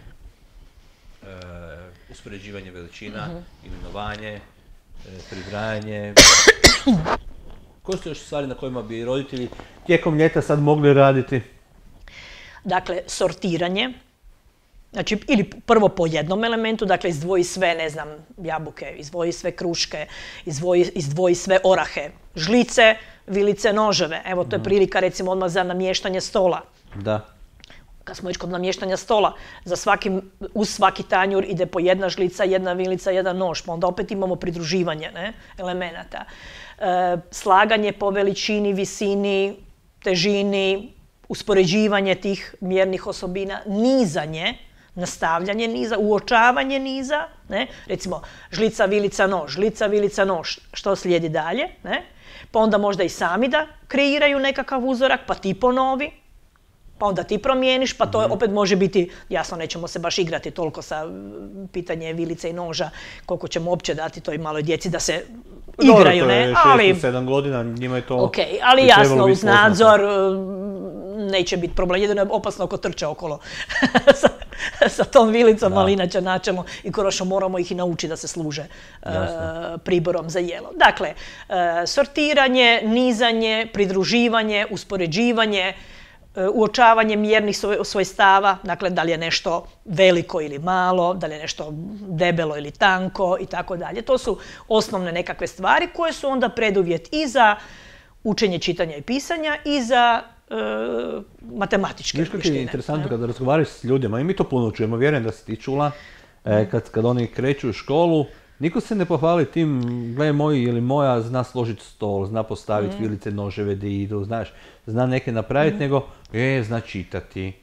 uspoređivanje veličina, imenovanje, pribrajanje. Koje su još stvari na kojima bi roditelji tijekom ljeta sad mogli raditi? Dakle, sortiranje. Znači, ili prvo po jednom elementu, dakle, izdvoji sve, ne znam, jabuke, izdvoji sve kruške, izdvoji sve orahe, žlice, vilice, noževe. Evo, to je prilika, recimo, odmah za namještanje stola. Da. Kad smo već kod namještanja stola, uz svaki tanjur ide po jedna žlica, jedna vilica, jedan nož, pa onda opet imamo pridruživanje elemenata. Slaganje po veličini, visini, težini, uspoređivanje tih mjernih osobina, nizanje, nastavljanje niza, uočavanje niza, ne? Recimo žlica, vilica, nož, što slijedi dalje, ne? Pa onda možda i sami da kreiraju nekakav uzorak, pa ti ponovi, pa onda ti promijeniš, pa to opet može biti, jasno nećemo se baš igrati toliko sa pitanje vilice i noža, koliko ćemo uopće dati toj maloj djeci da se igraju, ne? Dobro, to je 6-7 godina, njima je to... Ok, ali jasno, uz nadzor neće biti problem, jedino je opasno ako trče okolo sa tom vilicom, ali inače načelno i konačno moramo ih i naučiti da se služe priborom za jelo. Dakle, sortiranje, nizanje, pridruživanje, uspoređivanje, uočavanje mjernih svojstava, dakle da li je nešto veliko ili malo, da li je nešto debelo ili tanko i tako dalje. To su osnovne nekakve stvari koje su onda preduvjet i za učenje čitanja i pisanja i za matematičke vještine. Viš kako je interesantno kada razgovaraš s ljudima, i mi to puno čujemo, vjerujem da si ti čula, kad oni kreću u školu, niko se ne pohvali tim, gle moj ili moja zna složiti stol, zna postaviti vilice, noževe da idu, znaš, zna neke napraviti, nego zna čitati.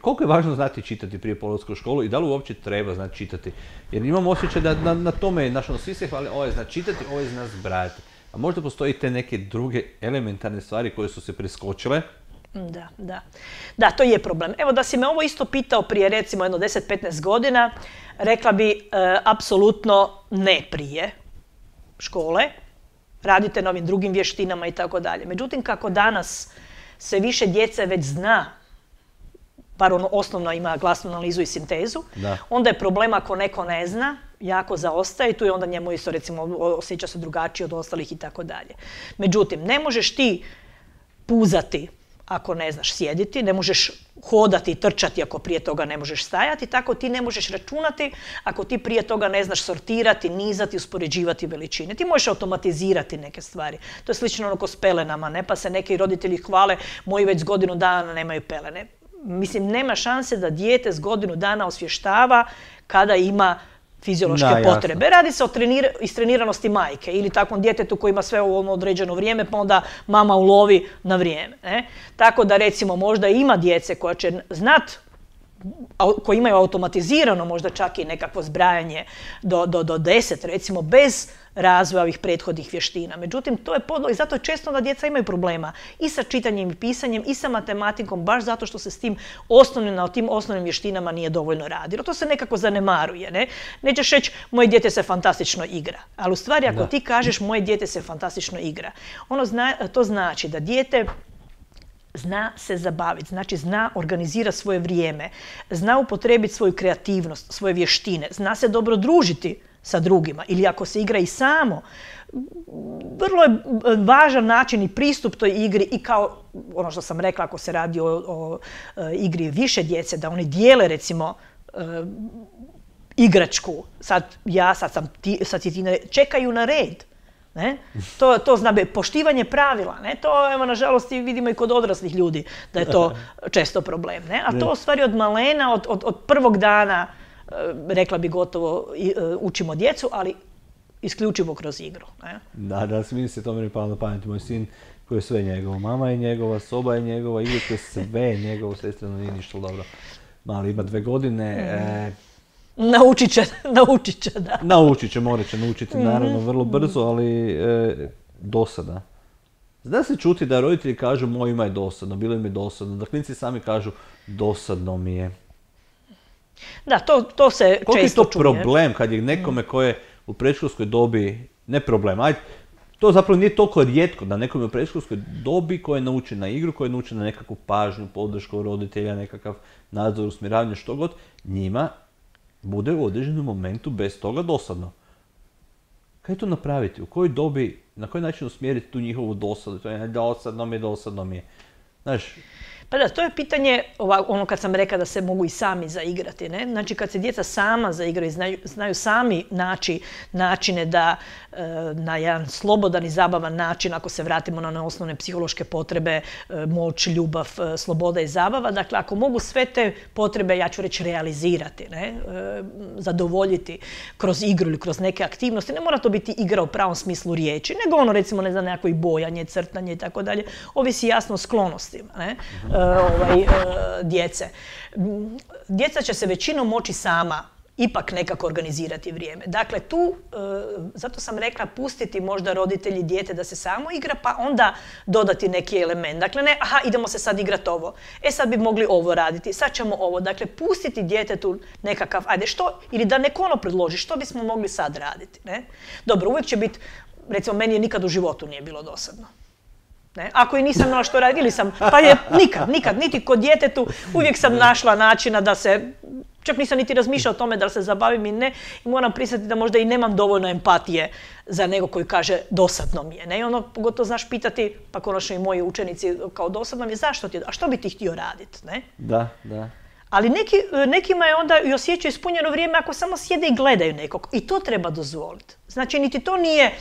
Koliko je važno znati čitati prije polaska u školu i da li uopće treba znati čitati? Jer imam osjećaj da na tome, svi se hvali, ovo je zna čitati, ovo je zna zbrajati. A možda postoji te neke druge elementarne stvari koje su se preskočile? Da, to je problem. Evo da si me ovo isto pitao prije recimo jedno 10-15 godina, rekla bi apsolutno ne prije škole, radite na ovim drugim vještinama i tako dalje. Međutim, kako danas sve više djece već zna, bar ono osnovno ima glasnu analizu i sintezu, onda je problem ako neko ne zna jako zaostaje i tu je onda njemu isto, recimo, osjeća se drugačije od ostalih i tako dalje. Međutim, ne možeš ti puzati ako ne znaš sjediti, ne možeš hodati i trčati ako prije toga ne možeš stajati, tako ti ne možeš računati ako ti prije toga ne znaš sortirati, nizati, uspoređivati veličine. Ti možeš automatizirati neke stvari. To je slično ono ko s pelenama, ne? Pa se neki roditelji hvale, moji već s godinu dana nemaju pelene. Mislim, nema šanse da dijete s godinu dana osvještava kada ima fiziološke potrebe. Radi se o istreniranosti majke ili takvom djetetu koji ima sve u određeno vrijeme, pa onda mama ulovi na vrijeme. Ne? Tako da, recimo, možda ima djece koja će koji imaju automatizirano možda čak i nekakvo zbrajanje do 10, recimo, bez razvoja ovih prethodnih vještina. Međutim, to je podlo i zato često da djeca imaju problema i sa čitanjem i pisanjem i sa matematikom, baš zato što se s tim na tim osnovnim vještinama nije dovoljno radilo. To se nekako zanemaruje. Ne? Nećeš reći, moje dijete se fantastično igra. Ali u stvari, ako ti kažeš, moje dijete se fantastično igra, to znači da dijete zna se zabaviti, znači zna organizirati svoje vrijeme, zna upotrijebiti svoju kreativnost, svoje vještine, zna se dobro družiti sa drugima ili ako se igra i samo. Vrlo je važan način i pristup toj igri i kao ono što sam rekla, ako se radi o igri više djece, da oni dijele, recimo, igračku. Sad sam ti, čekaju na red. Ne? To zna poštivanje pravila. Ne? To, evo, nažalost, vidimo i kod odraslih ljudi da je to često problem. Ne? A to u stvari od malena, od prvog dana, rekla bi gotovo, učimo djecu, ali isključivo kroz igru. Ne? Da, svi se to meni palo na pamet. Moj sin koji je sve njegovo. Mama je njegova, soba je njegova, igrate sve je njegovo, sestrano nije ništa dobro. Mali ima 2 godine. Naučit će, da. Naučit će, morat će naučiti, naravno, vrlo brzo, ali dosada. Zna se čuti da roditelji kažu, mojima je dosadno, bilo im je dosadno, da klinci sami kažu, dosadno mi je. Da, to se često čuje. Koliko je to problem kad je nekome ko je u predškolskoj dobi, ne problem, ajde, to zapravo nije toliko rijetko da nekome u predškolskoj dobi koji je naučen na igru, koji je naučen na nekakvu pažnju, podršku roditelja, nekakav nadzor, usmjeravanje, što god, njima bude u određenom momentu bez toga dosadno. Kako to napraviti? U kojoj dobi, na koji način usmjeriti tu njihovu dosadu? To je dosadno mi je. Znaš, pa da, to je pitanje, ono kad sam rekla da se mogu i sami zaigrati. Ne? Znači, kad se djeca sama zaigraju, znaju sami naći načine da na jedan slobodan i zabavan način, ako se vratimo na one osnovne psihološke potrebe, moć, ljubav, sloboda i zabava, dakle, ako mogu sve te potrebe, ja ću reći, realizirati, ne? Zadovoljiti kroz igru ili kroz neke aktivnosti, ne mora to biti igra u pravom smislu riječi, nego ono, recimo, ne znam, nekako i bojanje, crtanje i tako dalje, ovisi jasno o sklonostima, ne? Djece. Djeca će se većinom moći sama ipak nekako organizirati vrijeme. Dakle, tu, zato sam rekla, pustiti možda roditelji dijete da se samo igra, pa onda dodati neki element. Dakle, ne, idemo se sad igrati ovo. Sad bi mogli ovo raditi, sad ćemo ovo. Dakle, pustiti djetetu nekakav, ili da neko ono predloži, što bismo mogli sad raditi. Ne? Dobro, uvijek će biti, recimo, meni je nikad u životu nije bilo dosadno. Ne? Ako i nisam imala što raditi, pa je nikad, niti kod djetetu, uvijek sam našla načina da se, čak nisam niti razmišljala o tome da se zabavim i ne, i moram priznati da možda i nemam dovoljno empatije za nego koji kaže dosadno mi je. Ne? I ono, pogotovo znaš pitati, pa konačno i moji učenici kao dosadno mi je, zašto ti, a što bi ti htio raditi? Ne? Da. Ali nekima je onda i osjećaju ispunjeno vrijeme ako samo sjede i gledaju nekog. I to treba dozvoliti. Znači, niti to nije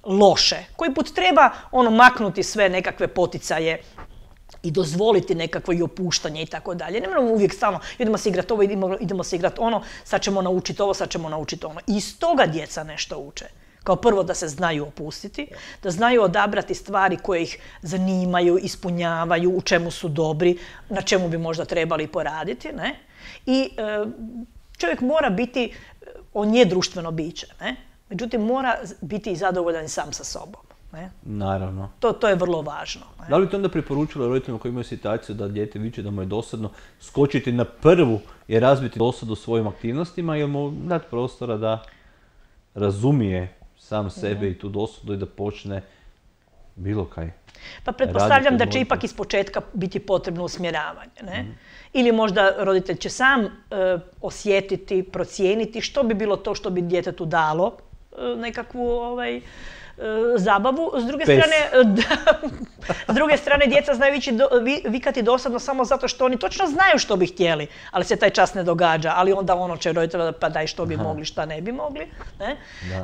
loše. Koji put treba maknuti sve nekakve poticaje i dozvoliti nekakvo i opuštanje i tako dalje. Ne moramo uvijek stalno, idemo se igrati ovo, idemo se igrati ono, sad ćemo naučiti ovo, sad ćemo naučiti ono. I iz toga djeca nešto uče. Kao prvo da se znaju opustiti, da znaju odabrati stvari koje ih zanimaju, ispunjavaju, u čemu su dobri, na čemu bi možda trebali poraditi. Ne? I čovjek mora biti, on je društveno biće, ne? Međutim, mora biti i zadovoljan sam sa sobom. Ne? Naravno. To je vrlo važno. Ne? Da li ti onda preporučila roditeljima koji imaju situaciju da dijete viče da mu je dosadno skočiti na prvu i razbiti dosadu svojim aktivnostima ili mu dati prostora da razumije sam sebe i tu dosadu i da počne bilo kaj? Pa pretpostavljam da će ipak iz početka biti potrebno usmjeravanje, ne? Ili možda roditelj će sam osjetiti, procijeniti što bi bilo to što bi djetetu dalo nekakvu zabavu. S druge strane, djeca znaju vikati dosadno samo zato što oni točno znaju što bi htjeli, ali se taj čas ne događa. Ali onda ono će roditelj pa daj što bi mogli, šta ne bi mogli. Ne?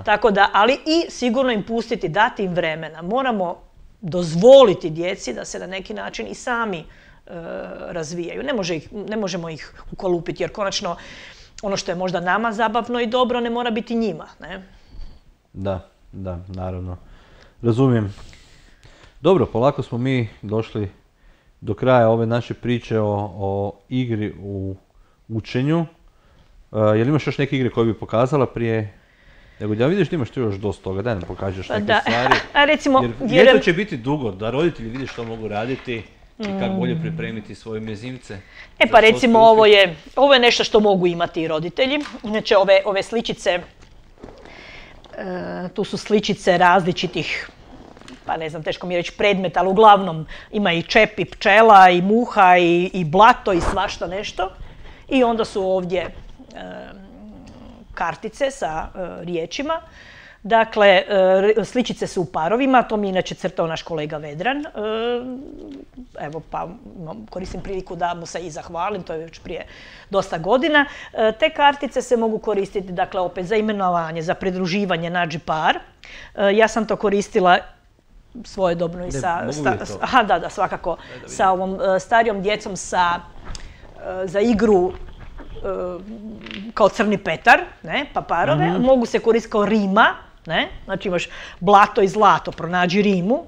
Tako da, ali i sigurno im pustiti, dati im vremena. Moramo dozvoliti djeci da se na neki način i sami razvijaju. Ne možemo ih ukolupiti jer konačno ono što je možda nama zabavno i dobro ne mora biti njima. Ne? Da, naravno. Razumijem. Dobro, polako smo mi došli do kraja ove naše priče o igri u učenju. Jel imaš još neke igre koje bi pokazala prije? Nego da vidiš da imaš tu još dosta toga, daj nam pokažeš neke stvari. Recimo, jer ljeto će biti dugo, da roditelji vide što mogu raditi i kako bolje pripremiti svoje mezimce. Pa recimo ovo je nešto što mogu imati i roditelji. Znači ove sličice, tu su sličice različitih, pa ne znam, teško mi je reći predmeta, ali uglavnom ima i čep, i pčela, i muha, i blato, i svašta nešto. I onda su ovdje kartice sa riječima. Dakle, sličice su u parovima, to mi inače crtao naš kolega Vedran. Evo, pa koristim priliku da mu se i zahvalim, to je već prije dosta godina. Te kartice se mogu koristiti, dakle, opet za imenovanje, za pridruživanje, nađi par. Ja sam to koristila svojedobno i svakako, sa ovom starijom djecom za igru kao Crni Petar, pa parove, mogu se koristiti kao rima, znači imaš blato i zlato, pronađi rimu,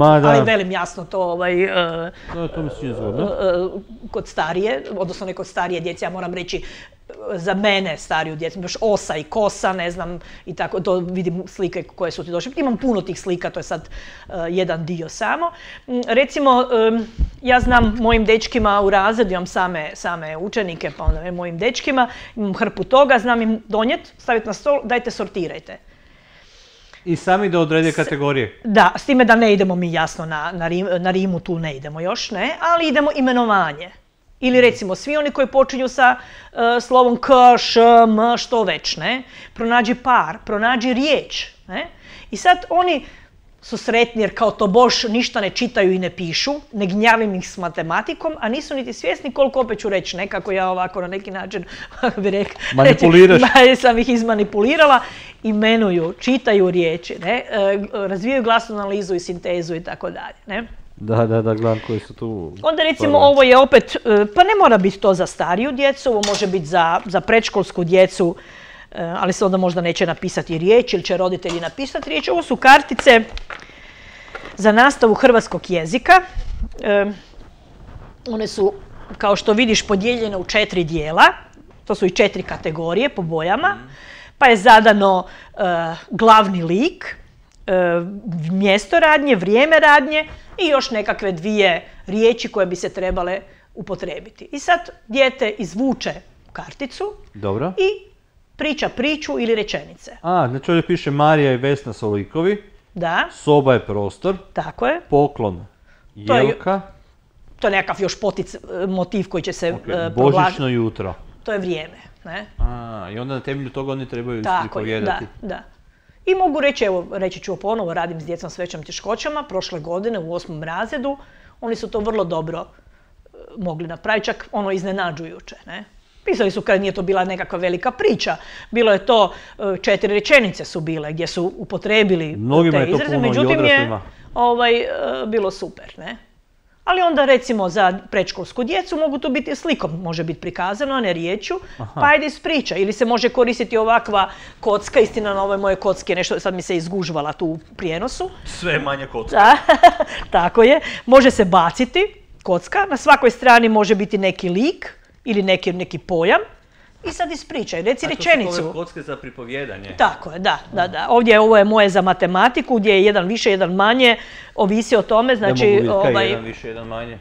ali velim jasno to kod starije, odnosno ne kod starije djece, ja moram reći za mene stariju djecu, imaš osa i kosa, ne znam, i tako, to vidim slike koje su ti došle. Imam puno tih slika, to je sad jedan dio samo. Recimo, ja znam mojim dečkima u razredu, imam same učenike, pa onda mojim dečkima, imam hrpu toga, znam im donijeti, staviti na stol, dajte sortirajte. I sami da odrede kategorije? Da, s time da ne idemo mi jasno na rimu, tu ne idemo još, ne, ali idemo imenovanje. Ili recimo svi oni koji počinju sa slovom k, š, m, što već, ne? Pronađi par, pronađi riječ, ne? I sad oni su sretni jer kao to boš ništa ne čitaju i ne pišu, ne gnjavim ih s matematikom, a nisu niti svjesni koliko, opet ću reći, nekako ja ovako na neki način bi rekla, manipuliraš. Sam ih izmanipulirala, imenuju, čitaju riječi, ne? Razvijaju glasnu analizu i sintezu i tako dalje, ne? Da, gledam koji su tu... Onda recimo ovo je opet, pa ne mora biti to za stariju djecu, ovo može biti za predškolsku djecu, ali se onda možda neće napisati riječ ili će roditelji napisati riječ. Ovo su kartice za nastavu hrvatskog jezika. One su, kao što vidiš, podijeljene u 4 dijela. To su i 4 kategorije po bojama. Pa je zadano glavni lik, mjesto radnje, vrijeme radnje i još nekakve 2 riječi koje bi se trebale upotrijebiti. I sad dijete izvuče karticu. Dobro. I priča priču ili rečenice. Znači ovdje piše Marija i Vesna su likovi. Da. Soba je prostor. Tako je. Poklon Jelka. To je nekakav još motiv koji će se provlačiti. Božićno jutro. To je vrijeme. Ne? I onda na temelju toga oni trebaju pripovijedati. Da. I mogu reći, evo, reći ću ponovo, radim s djecom s većim teškoćama, prošle godine u 8. razredu, oni su to vrlo dobro mogli napraviti, čak iznenađujuće, ne? Pisali su kad nije to bila nekakva velika priča, bilo je to 4 rečenice su bile gdje su upotrijebili te izraze, međutim je bilo super, ne? Ali onda recimo za predškolsku djecu mogu to biti slikom, može biti prikazano, a ne riječju, pa ajde ispriča. Ili se može koristiti ovakva kocka, istina na ovoj moje kocki, nešto sad mi se izgužvala tu u prijenosu. Sve manje kocka. Tako je, može se baciti kocka, na svakoj strani može biti neki lik ili neki pojam. I sad ispričaj, reci rečenicu. To su ove kocke za pripovjedanje. Tako je, da. Ovdje ovo je moje za matematiku, gdje je jedan više, jedan manje, ovisi o tome, znači... Ne mogu vidjeti kaj je jedan više, jedan manje.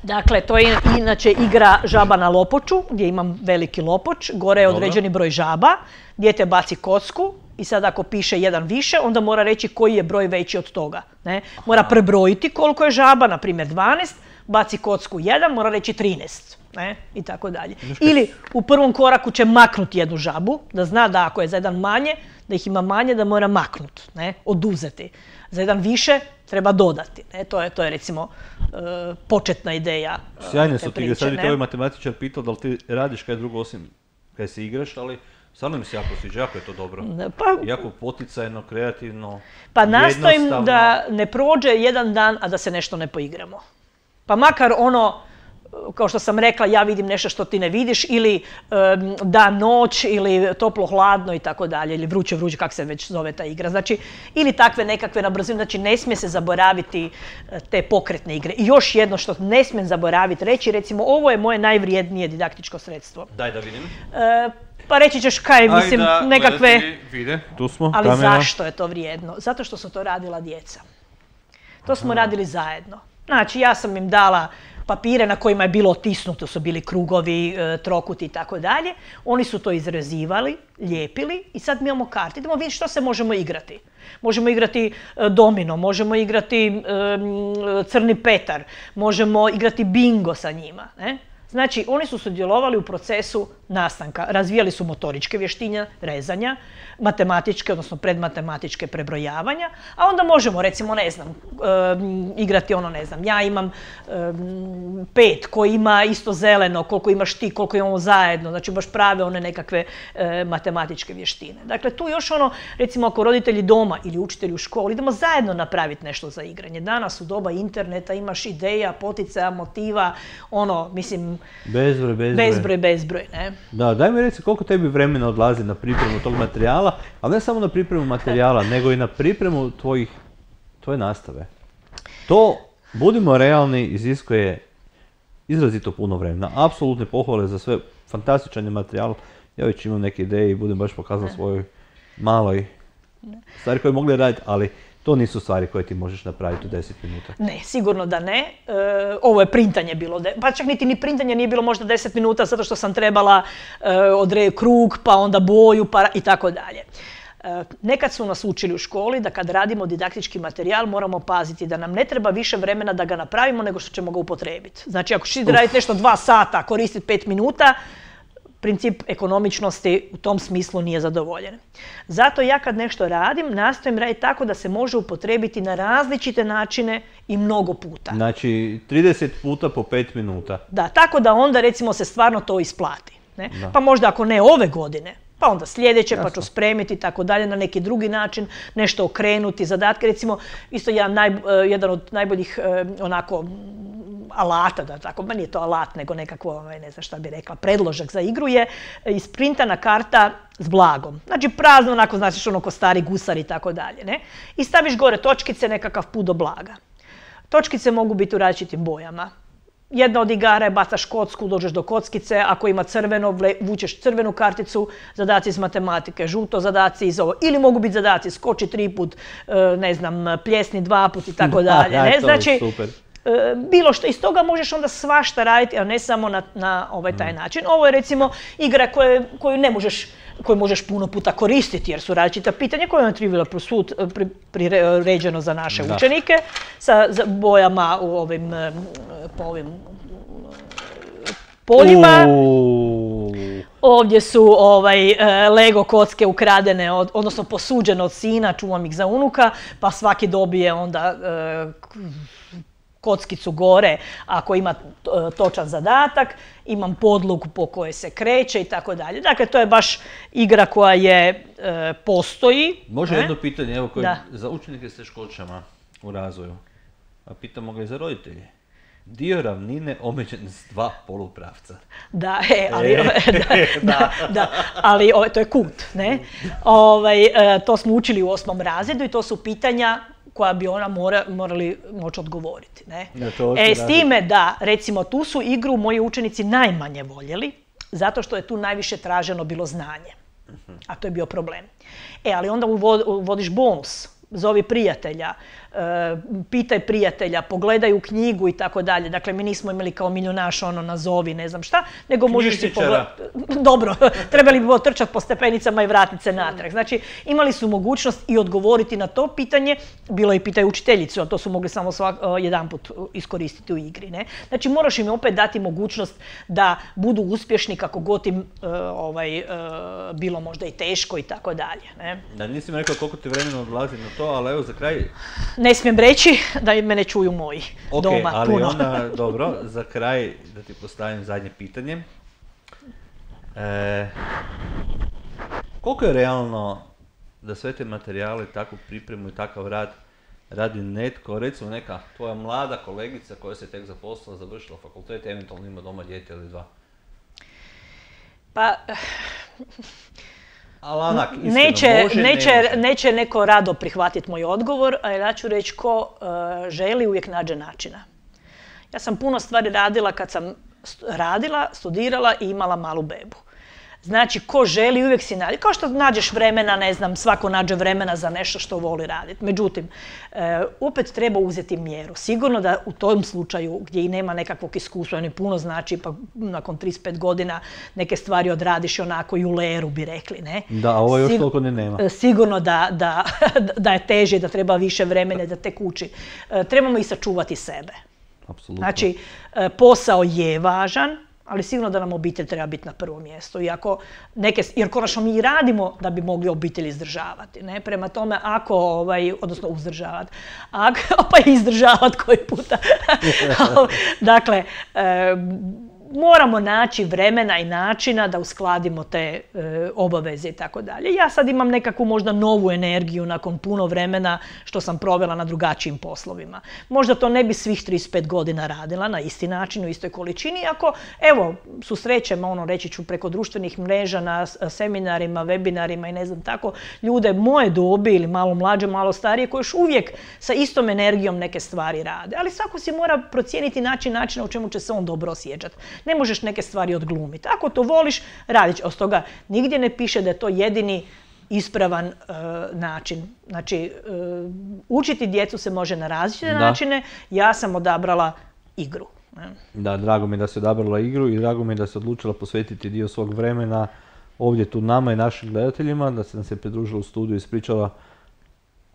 Dakle, to je inače igra žaba na lopoču, gdje imam veliki lopoč, gore je određeni broj žaba, dijete baci kocku i sad ako piše jedan više, onda mora reći koji je broj veći od toga. Ne? Mora prebrojiti koliko je žaba, na primjer 12, baci kocku 1, mora reći 13. Ne? I tako dalje. Ili u prvom koraku će maknuti jednu žabu, da zna da ako je za jedan manje, da ih ima manje, da mora maknuti, oduzeti. Za jedan više treba dodati. To je recimo početna ideja Sjajne su ti, sad bi te ovaj matematičar pitao da li ti radiš kaj drugo osim kaj se igraš, ali stvarno mi se jako sviđa, jako je to dobro. Jako poticajno, kreativno, pa nastojim da ne prođe jedan dan, a da se nešto ne poigramo. Pa makar kao što sam rekla, ja vidim nešto što ti ne vidiš, ili dan, noć, ili toplo, hladno i tako dalje, ili vruće, kak se već zove ta igra. Znači, ili takve nekakve na brzinu, znači ne smije se zaboraviti te pokretne igre. I još jedno što ne smijem zaboraviti reći, recimo, ovo je moje najvrijednije didaktičko sredstvo. Daj da vidim. Pa reći ćeš kaj, mislim, nekakve... Vide, tu smo, ali kamera. Zašto je to vrijedno? Zato što su to radila djeca. To smo radili zajedno. Znači, ja sam im dala papire na kojima je bilo otisnuto, su bili krugovi, trokuti i tako dalje. Oni su to izrezivali, lijepili i sad mi imamo karte. Idemo vidjeti što se možemo igrati. Možemo igrati domino, možemo igrati crni petar, možemo igrati bingo sa njima. Znači, oni su sudjelovali u procesu nastanka. Razvijali su motoričke vještine, rezanja, matematičke, odnosno predmatematičke prebrojavanja, a onda možemo, recimo, igrati ja imam 5, koji ima isto zeleno, koliko imaš ti, koliko imamo zajedno, znači baš prave one nekakve matematičke vještine. Dakle, tu još recimo, ako roditelji doma ili učitelji u školi, idemo zajedno napraviti nešto za igranje. Danas u doba interneta imaš ideja, poticaja, motiva, mislim, bezbroj, ne? Da, daj mi reci koliko tebi vremena odlazi na pripremu tog materijala, ali ne samo na pripremu materijala, nego i na pripremu tvoje nastave. To, budimo realni, iziskuje izrazito puno vremena. Apsolutne pohvale za sve, fantastičan je materijal. Ja već imam neke ideje i budem baš pokazao svojoj maloj stvari koje mogli raditi, ali to nisu stvari koje ti možeš napraviti u 10 minuta. Ne, sigurno da ne. Ovo je printanje bilo, pa čak ni printanje nije bilo možda 10 minuta zato što sam trebala odrediti krug, pa onda boju i tako dalje. Nekad su nas učili u školi da kad radimo didaktički materijal moramo paziti da nam ne treba više vremena da ga napravimo nego što ćemo ga upotrijebiti. Znači ako ćeš raditi nešto 2 sata, koristiti 5 minuta, princip ekonomičnosti u tom smislu nije zadovoljen. Zato ja kad nešto radim, nastojim raditi tako da se može upotrijebiti na različite načine i mnogo puta. Znači 30 puta po 5 minuta. Da, tako da onda recimo se stvarno to isplati. Pa možda ako ne ove godine, pa onda sljedeće, pa ću spremiti i tako dalje na neki drugi način, nešto okrenuti, zadatke. Recimo, isto jedan od najboljih alata, da tako, nije to alat, nego nekakvo, ne znam šta bi rekla, predložak za igru je isprintana karta s blagom. Znači prazno, onako, znači ko stari gusar i tako dalje, ne? I staviš gore točkice, nekakav put do blaga. Točkice mogu biti u različitim bojama. Jedna od igara je bacaš kocku, dođeš do kockice, ako ima crveno, vučeš crvenu karticu, zadaci iz matematike, žuto zadaci iz ovo. Ili mogu biti zadaci, skoči 3 put, pljesni 2 put i tako dalje. Ne? Znači, bilo što, iz toga možeš onda svašta raditi, a ne samo na taj način. Ovo je recimo igra koju možeš puno puta koristiti jer su različita pitanja koje je Trivial Pursuit priređeno za naše učenike sa bojama po ovim poljima. Ovdje su Lego kocke ukradene, odnosno posuđene od sina, čuvam ih za unuka, pa svaki dobije onda kockicu gore ako ima točan zadatak, imam podlogu po kojoj se kreće i tako dalje. Dakle, to je baš igra koja postoji. Može jedno pitanje, evo, za učenike s teškoćama u razvoju, a pitamo ga i za roditelje. Dio ravnine omeđen s 2 polupravca. Ali to je kut, ne? To smo učili u 8. razredu i to su pitanja koja bi ona morali moći odgovoriti. S time da, recimo, tu su igru moji učenici najmanje voljeli, zato što je tu najviše traženo bilo znanje. A to je bio problem. Ali onda uvodiš bonus, zovi prijatelja, pitaj prijatelja, pogledaj u knjigu i tako dalje. Dakle, mi nismo imali kao milionaš nazovi, ne znam šta, nego možeš si pogledati. Dobro, trebali bi bilo trčati po stepenicama i vratiti se natrag. Znači, imali su mogućnost i odgovoriti na to pitanje, bilo i pitaj učiteljicu, a to su mogli samo jedanput iskoristiti u igri. Ne? Znači, moraš im opet dati mogućnost da budu uspješni kako god im bilo možda i teško i tako dalje. Da, nisam rekao koliko ti vremena odlazi na to, ali evo za kraj... Ne smijem reći da mene čuju moji doma. Ali puno. onda, dobro, za kraj da ti postavim zadnje pitanje. Koliko je realno da sve te materijale, takvu pripremu i takav rad radi netko, recimo neka tvoja mlada kolegica koja se tek zaposlila, završila fakultet, eventualno ima doma dijete ili dva? Pa... Ali onak, iskreno, neće neko rado prihvatiti moj odgovor, a ja ću reći ko želi uvijek nađe načina. Ja sam puno stvari radila kad sam studirala i imala malu bebu. Znači, ko želi uvijek si nađe. Kao što nađeš vremena, ne znam, svako nađe vremena za nešto što voli raditi. Međutim, opet treba uzeti mjeru. Sigurno da u tom slučaju gdje i nema nekakvog iskustva, ni puno znači, pa nakon 35 godina neke stvari odradiš onako i u leru, bi rekli, ne? Da, ovo još toliko ne nema. Sigurno da je teže, da treba više vremena, da tek uči. Trebamo i sačuvati sebe. Apsolutno. Znači, posao je važan, ali sigurno da nam obitelj treba biti na prvom mjestu. Jer konačno mi i radimo da bi mogli obitelj izdržavati. Ne? Prema tome, odnosno uzdržavati, pa i izdržavati koji puta. Dakle, moramo naći vremena i načina da uskladimo te obaveze i tako dalje. Ja sad imam nekakvu možda novu energiju nakon puno vremena što sam provela na drugačijim poslovima. Možda to ne bi svih 35 godina radila na isti način, u istoj količini, ako, evo, susrećem, reći ću preko društvenih mreža na seminarima, webinarima i ne znam tako, ljude moje dobi ili malo mlađe, malo starije, koji još uvijek sa istom energijom neke stvari rade. Ali svako si mora procijeniti načina u čemu će se on dobro osjećati. Ne možeš neke stvari odglumiti. Ako to voliš, radit će. Od toga nigdje ne piše da je to jedini ispravan način. Znači, učiti djecu se može na različite načine. Ja sam odabrala igru. Da, drago mi je da si odabrala igru i drago mi je da si odlučila posvetiti dio svog vremena ovdje tu nama i našim gledateljima, da se nam se pridružila u studiju i ispričala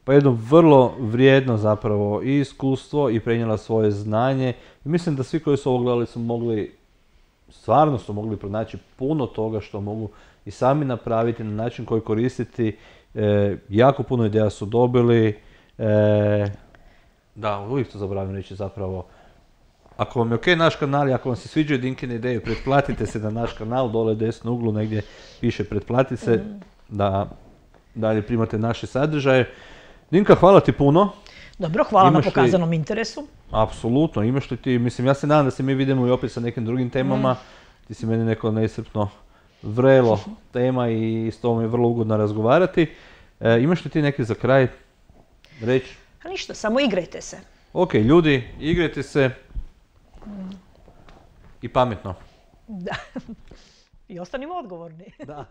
pa jedno vrlo vrijedno zapravo i iskustvo i prenijela svoje znanje. I mislim da svi koji su ovo gledali stvarno su mogli pronaći puno toga što mogu i sami napraviti na način koji koristiti. Jako puno ideja su dobili. Da, uvijek to zaboravim reći zapravo. Ako vam je ok naš kanal i ako vam se sviđaju Dinkine ideje, pretplatite se na naš kanal, dole u desnom uglu negdje piše pretplati se, da dalje primate naše sadržaje. Dinka, hvala ti puno. Dobro, hvala na pokazanom interesu. Apsolutno, imaš li ti, mislim, ja se nadam da se mi vidimo i opet sa nekim drugim temama. Ti si meni neko neiscrpno vrelo tema i s tobom je vrlo ugodno razgovarati. Imaš li ti neki za kraj reći? A ništa, samo igrajte se. Ok, ljudi, igrajte se i pametno. Da. I ostanimo odgovorni. Da.